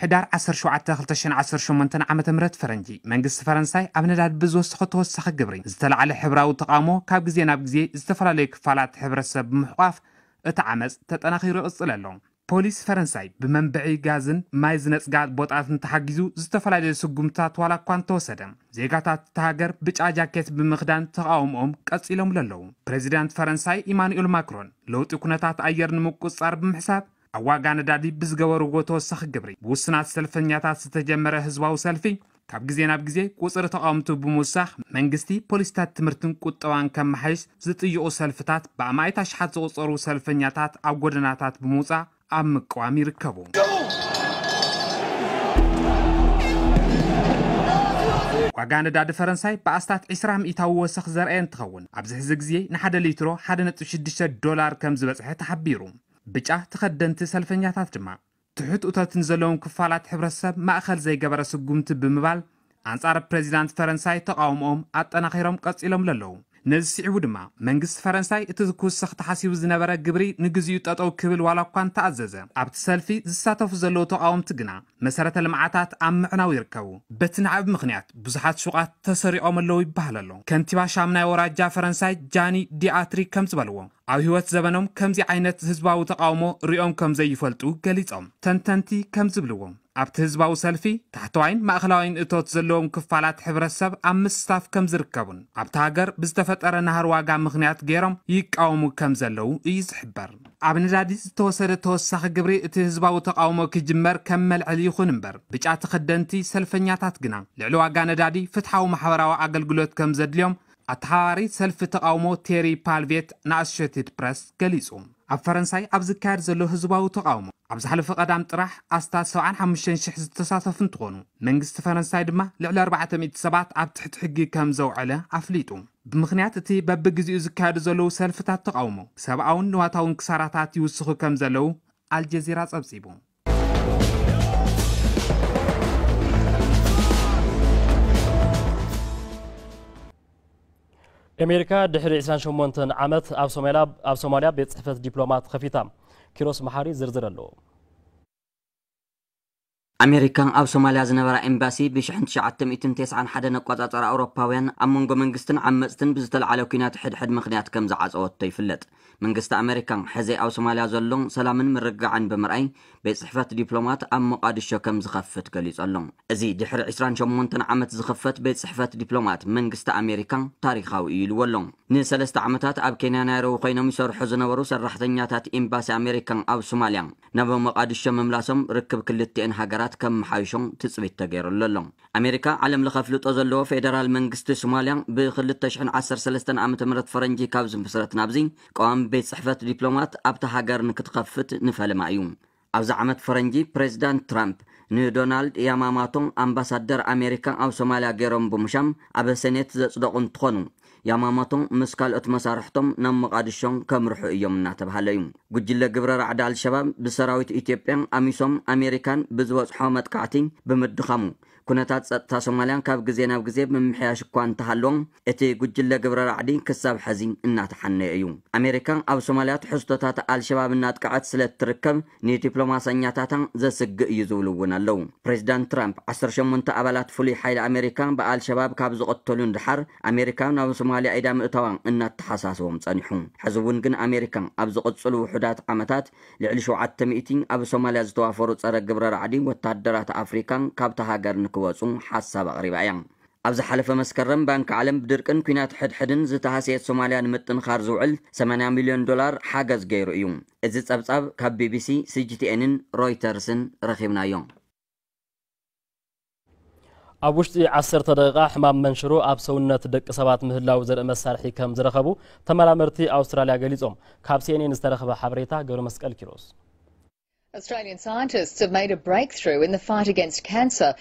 ሕዳር ዓሰርተ ሸውዓተ ክልተ ሽሕን ዓሰርተ ሸሞንተን ዓመተ ምህረት ፈረንጂ መንግስቲ ፈረንሳይ ኣብ ነዳዲ ብዝወሰኾ ተወሳኺ ግብሪ ዝተላዕለ ሕብራዊ ተቓውሞ ካብ ግዜ ናብ ግዜ ዝተፈላለዩ ክፋላት ሕብረተሰብ ብምሕቋፍ እቲ ዓመፅ ተጠናኺሩ ይቕፅል ኣሎ። ፖሊስ ፈረንሳይ ብመንብዒ ጋዝን ማይ ዝነፅጋ ቦጣትን ተሓጊዙ ዝተፈላለዩ ስጉምትታት ዋላ እኳ እንተወሰደ ዜጋታት እታ ሃገር ብጫ ጃኬት ብምኽዳን ተቓውሞኦም ቀፂሎም ኣለዉ። ፕሬዚዳንት ፈረንሳይ ኢማኑኤል ማክሮን ለውጢ ኩነታት ኣየር ንምቁፅፃር ብምሕሳብ ኣብ ዋጋ ነዳዲ ብዝገበርዎ ተወሳኺ ግብሪ ብውሱናት ሰልፈኛታት ዝተጀመረ ህዝባዊ ሰልፊ ካብ ግዜ ናብ ግዜ ቁፅሪ ተቓወምቱ ብምውሳኽ መንግስቲ ፖሊሲታት ትምህርትን ቁጠባን ከመሓይሽ ዝጥይቑ ሰልፍታት ብኣማኢት ኣሽሓት ዝቑፀሩ ሰልፈኛታት ኣብ ጎደናታት ብምውፃእ ኣብ ምቅዋም ይርከቡ። ዋጋ ነዳዲ ፈረንሳይ ብኣስታት ዕስራ ሚእታዊ ወሰኽ ዘርኣየ እንትኸውን ኣብዚ ሕዚ ግዜ ንሓደ ሊትሮ ሓደ ነጥቢ ሽዱሽተ ዶላር ከም ዝበፅሐ ተሓቢሩ። ብጫ ተኸደንቲ ሰልፈኛታት ድማ ትሑት እቶትን ዘለዎም ክፋላት ሕብረተሰብ ማእኸል ዘይገበረ ስጉምቲ ብምባል ኣንፃር ፕሬዚዳንት ፈረንሳይ ተቓውሞኦም ኣጠናኺሮም ቀፂሎም ለለዉ። ነዚ ስዒቡ ድማ መንግስቲ ፈረንሳይ እቲ ክውሰኽ ተሓሲቡ ዝነበረ ግብሪ ንግዚኡ ጠጠው ክብል ዋላ እኳ እንተኣዘዘ ኣብቲ ሰልፊ ዝሳተፉ ዘለዉ ተቓወምቲ ግና መሰረተ ልምዓታት ኣብ ምዕናው ይርከቡ። በቲ ናዕቢ ምኽንያት ብዙሓት ሹቓት ተሰሪቖም ኣለዉ ይበሃል ኣሎ። ከንቲባ ሻምናይ ወራጃ ፈረንሳይ ጃኒ ዲኣትሪ ከም ዝበልዎ ኣብ ህይወት ዘበኖም ከምዚ ዓይነት ህዝባዊ ተቓውሞ ሪኦም ከም ዘይፈልጡ ገሊጾም። ተንተንቲ ከም ዝብልዎ ኣብቲ ህዝባዊ ሰልፊ ታሕተዋይን ማእኸላዋይን እቶት ዘለዎም ክፋላት ሕብረተሰብ ኣብ ምስታፍ ከም ዝርከቡን ኣብቲ ሃገር ብዝተፈጠረ ናህር ዋጋ ምኽንያት ገይሮም ይቃወሙ ከም ዘለዉ እዩ ዝሕበር። ኣብ ነዳዲ ዝተወሰደ ተወሳኺ ግብሪ እቲ ህዝባዊ ተቓውሞ ክጅመር ከም መልዕሊ ይኹን እምበር ብጫ ተኸደንቲ ሰልፈኛታት ግና ልዕሊ ዋጋ ነዳዲ ፍትሓዊ ማሕበራዊ ኣገልግሎት ከም ዘድልዮም ኣተሓባባሪ ሰልፊ ተቓውሞ ቴሪ ፓልቬት ንኣሶሼትድ ፕረስ ገሊጹ። ኣብ ፈረንሳይ ኣብ ዝካየድ ዘሎ ህዝባዊ ተቓውሞ ኣብ ዝሓለፈ ቀዳም ጥራሕ ኣስታት ሰብዓን ሓሙሽተን ሽሕ ዝተሳተፉ እንትኾኑ መንግስቲ ፈረንሳይ ድማ ልዕሊ ኣርባዕተ ሚእቲ ሰባት ኣብ ትሕቲ ሕጊ ከም ዘውዐለ ኣፍሊጡ። ብምኽንያት እቲ በብግዜኡ ዝካየዱ ዘለዉ ሰልፍታት ተቓውሞ ሰብኣውን ንዋታውን ክሳራታት ይውስኹ ከም ዘለዉ ኣልጀዚራ ጸብጺቡ። ኣሜሪካ ድሕሪ ዕስራን ሸሞንተን ዓመት ኣብ ሶማልያ ኣብ ሶማልያ ቤት ጽሕፈት ዲፕሎማት ከፊታ። ኪሮስ መሓሪ ዝርዝር ኣለዎ። ኣሜሪካ ኣብ ሶማልያ ዝነበራ ኤምባሲ ብሽሕን ትሽዓተ ሚእትን ተስዓን ሓደን ኣቆጻጽራ ኣውሮፓውያን ኣብ መንጎ መንግስትን ዓመጽትን ብዝተለዓለ ኲናት ሕድሕድ ምኽንያት ከም ዝዓጸወቶ ይፍለጥ። መንግስቲ ኣሜሪካ ሕዚ ኣብ ሶማልያ ዘሎ ሰላምን ምርግጋዕን ብምርኣይ ቤት ጽሕፈት ዲፕሎማት ኣብ ሞቓድሾ ከም ዝኸፍት ገሊጹ ኣሎ። እዚ ድሕሪ ዕስራን ሸሞንተን ዓመት ዝኸፈት ቤት ጽሕፈት ዲፕሎማት መንግስቲ ኣሜሪካ ታሪኻዊ እዩ ኢልዎ ኣሎ። ንሰለስተ ዓመታት ኣብ ኬንያ ናይሮቢ ኮይኖም ይሰርሑ ዝነበሩ ሰራሕተኛታት ኤምባሲ ኣሜሪካ ኣብ ሶማልያ ናብ ሞቓድሾ ምምላሶም ርክብ ክልቲኤን ሃገራት ከመሓይሾ ትጽቢት ተገይሩሉ ኣሎ። ኣሜሪካ ዓለም ለኸ ኣፍልጦ ዘለዎ ፌደራል መንግስቲ ሶማልያ ብ ክልተ ሽሕን ዓሰርተ ሰለስተን ዓመተ ምህረት ፈረንጂ ካብ ዝምስረት ናብዚ ቀዋሚ ቤት ጽሕፈት ዲፕሎማት ኣብታ ሃገር ንክትኸፍት ንፈልማ እዩ። ኣብዚ ዓመት ፈረንጂ ፕሬዚዳንት ትራምፕ ንዶናልድ ያማማቶ ኣምባሳደር ኣሜሪካ ኣብ ሶማልያ ገይሮም ብምሻም ኣብ ሴኔት ዘጽደቑ እንትኾኑ፣ ያማማቶ ምስ ካልኦት መሳርሕቶም ናብ ሞቓዲሾ ከምርሑ እዮም እናተባሃለ እዩ። ጉጅለ ግብረ ራዕዲ ኣልሸባብ ብሰራዊት ኢትዮጵያን ኣሚሶም ኣሜሪካን ብዝበጽሖ መጥቃዕቲ ብምድኻሙ፣ ኩነታት ጸጥታ ሶማልያ ካብ ግዜ ናብ ግዜ ብምምሕያሽ እኳ እንተሃለዎም፣ እቲ ጉጅለ ግብረ ራዕዲ ክሳብ ሐዚ እናተሓነየ እዩ። ኣሜሪካ ኣብ ሶማልያ ትሕዝቶታት ኣልሸባብ እናጥቅዐት ስለ እትርከብ፣ ንዲፕሎማሰኛታታ ዘስግእ እዩ ዝብሉ እውን ኣለዉ። ፕሬዚዳንት ትራምፕ ዓሰርተ ሸሞንተ ኣባላት ፍሉይ ሓይሊ ኣሜሪካ ብኣልሸባብ ካብ ዝቐተሉ ንድሓር፣ ኣሜሪካ ናብ ሶማልያ ኢዳ ምእታዋ እናተሓሳስቦም ጸኒሑ። ሕዚ እውን ግን ኣሜሪካ ኣብ ዝቕጽሉ ውሑዳት ዓመታት ልዕሊ ሸውዓተ ሚእቲ ኣብ ሶማልያ ዝተዋፈሩ ጸረ ግብረ ራዕዲ ወታደራት ኣፍሪካ ካብታ ሃገር ንክወጹ ሓሳብ ኣቕሪባ እያ። ኣብ ዝሓለፈ መስከረም ባንኪ ዓለም ብድርቅን ኲናት ሕድሕድን ዝተሃስየት ሶማልያ ንምጥንኻር ዝውዕል ሰማንያ ሚልዮን ዶላር ሓገዝ ገይሩ እዩ። እዚ ጸብጻብ ካብ ቢቢሲ፣ ሲጂቲኤንን ሮይተርስን ረኺብናዮ። ኣብ ውሽጢ ዓሰርተ ደቂቓ ሕማም መንሽሮ ኣብ ሰውነት ደቂ ሰባት ምህላው ዘርኢ መሳርሒ ከም ዝረኸቡ ተመራመርቲ ኣውስትራልያ ገሊጾም። ካብ ሲኤንኤን ዝተረኸበ ሓበሬታ ገብረ መስቀል ኪሮስ። Australian scientists have made a breakthrough in the fight against cancer.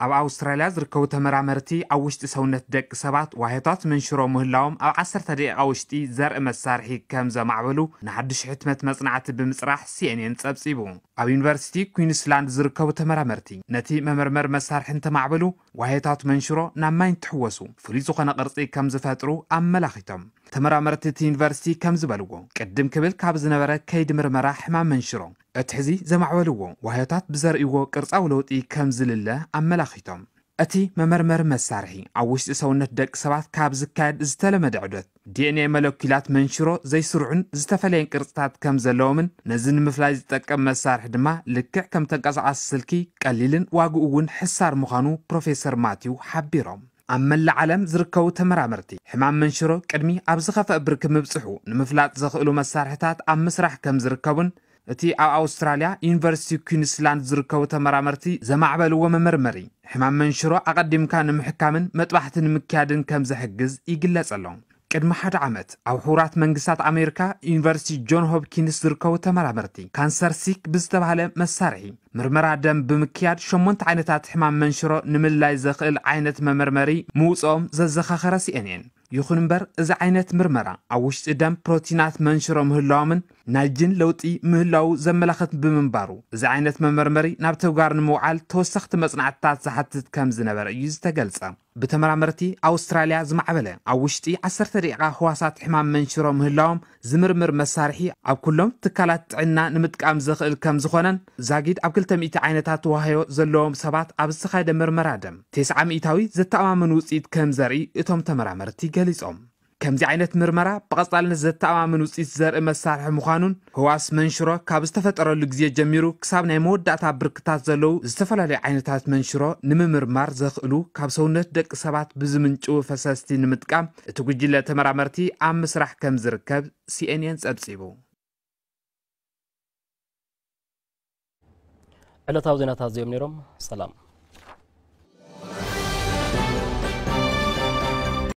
ኣብ ኣውስትራልያ ዝርከቡ ተመራመርቲ ኣብ ውሽጢ ሰውነት ደቂ ሰባት ዋህዮታት መንሽሮ ምህላዎም ኣብ ዓሰርተ ደቂቓ ውሽጢ ዘርኢ መሳርሒ ከም ዘማዕበሉ ንሓድሽ ሕትመት መጽናዕቲ ብምጽራሕ ሲኤንኤን ጸብጺቡ። ኣብ ዩኒቨርሲቲ ኩዊንስላንድ ዝርከቡ ተመራመርቲ ነቲ መመርመሪ መሳርሒ እንተማዕበሉ ዋህዮታት መንሽሮ ናብ ማይ እንትሕወሱ ፍሉይ ዝኾነ ቅርጺ ከም ዝፈጥሩ ኣመላኺቶም። ተመራመርቲ እቲ ዩኒቨርሲቲ ከም ዝበልዎ ቅድም ክብል ካብ ዝነበረ ከይዲ ምርመራ ሕማም መንሽሮ እቲ ሕዚ ዘማዕበልዎ ዋህዮታት ብዘርእይዎ ቅርጻዊ ለውጢ ከም ዝልለ ኣመላኺቶም። እቲ መመርመሪ መሳርሒ ኣብ ውሽጢ ሰውነት ደቂ ሰባት ካብ ዝካየድ ዝተለመደ ዑደት ዲኤንኤ መለኪላት መንሽሮ ዘይስሩዕን ዝተፈለየን ቅርጽታት ከም ዘለዎምን ነዚ ንምፍላይ ዝጠቀም መሳርሒ ድማ ልክዕ ከም ተንቀሳቓሲ ስልኪ ቀሊልን ዋግኡ እውን ሕሳር ምዃኑ ፕሮፌሰር ማቲው ሓቢሮም። ኣብ መላእ ዓለም ዝርከቡ ተመራመርቲ ሕማም መንሽሮ ቅድሚ ኣብ ዝኸፍአ ብርኪ ምብጽሑ ንምፍላጥ ዘኽእሉ መሳርሕታት ኣብ ምስራሕ ከም ዝርከቡን እቲ ኣብ ኣውስትራልያ ዩኒቨርሲቲ ኩዊንስላንድ ዝርከቡ ተመራመርቲ ዘማዕበልዎ መመርመሪ ሕማም መንሽሮ ኣቐዲምካ ንምሕካምን መጥባሕቲ ንምክያድን ከም ዝሕግዝ ይግለጽ ኣሎ። ቅድሚ ሓደ ዓመት ኣብ ሕቡራት መንግስታት ኣሜሪካ ዩኒቨርሲቲ ጆን ሆፕኪንስ ዝርከቡ ተመራመርቲ ካንሰር ሲክ ብዝተባህለ መሳርሒ ምርመራ ደም ብምክያድ ሸሞንተ ዓይነታት ሕማም መንሽሮ ንምልላይ ዘኽእል ዓይነት መመርመሪ ምውፅኦም ዘዘኻኸረ ሲኤንኤን። ይኹን እምበር እዚ ዓይነት ምርመራ ኣብ ውሽጢ ደም ፕሮቲናት መንሽሮ ምህላዎምን ናይ ጅን ለውጢ ምህላዉ ዘመላኽት ብምንባሩ እዚ ዓይነት መመርመሪ ናብ ተግባር ንምውዓል ተወሰኽቲ መጽናዕትታት ዝሓትት ከም ዝነበረ እዩ ዝተገልጸ። ብተመራመርቲ ኣውስትራልያ ዝማዕበለ ኣብ ውሽጢ ዓሰርተ ደቂቓ ህዋሳት ሕማም መንሽሮ ምህላዎም ዝምርምር መሳርሒ ኣብ ኩሎም ትካላት ጥዕና ንምጥቃም ዘኽእል ከም ዝኾነን ዛጊድ ኣብ ክልተ ሚእቲ ዓይነታት ዋህዮ ዘለዎም ሰባት ኣብ ዝተኻየደ ምርመራ ደም ተስዓ ሚእታዊ ዘተኣማምን ውፅኢት ከም ዘርኢ እቶም ተመራመርቲ ገሊጾም። ከምዚ ዓይነት ምርመራ ብቐጻልነት ዘተኣማምን ውፅኢት ዘርኢ መሳርሒ ምዃኑን ህዋስ መንሽሮ ካብ ዝተፈጠረሉ ግዜ ጀሚሩ ክሳብ ናይ መወዳእታ ብርክታት ዘለዉ ዝተፈላለዩ ዓይነታት መንሽሮ ንምምርማር ዘኽእሉ ካብ ሰውነት ደቂ ሰባት ብዝምንጭዉ ፈሰስቲ ንምጥቃም እቲ ጉጅለ ተመራመርቲ ኣብ ምስራሕ ከም ዝርከብ ሲኤንኤን ጸብጺቡ። ዕለታዊ ዜናታት እዚኦም ነይሮም። ሰላም።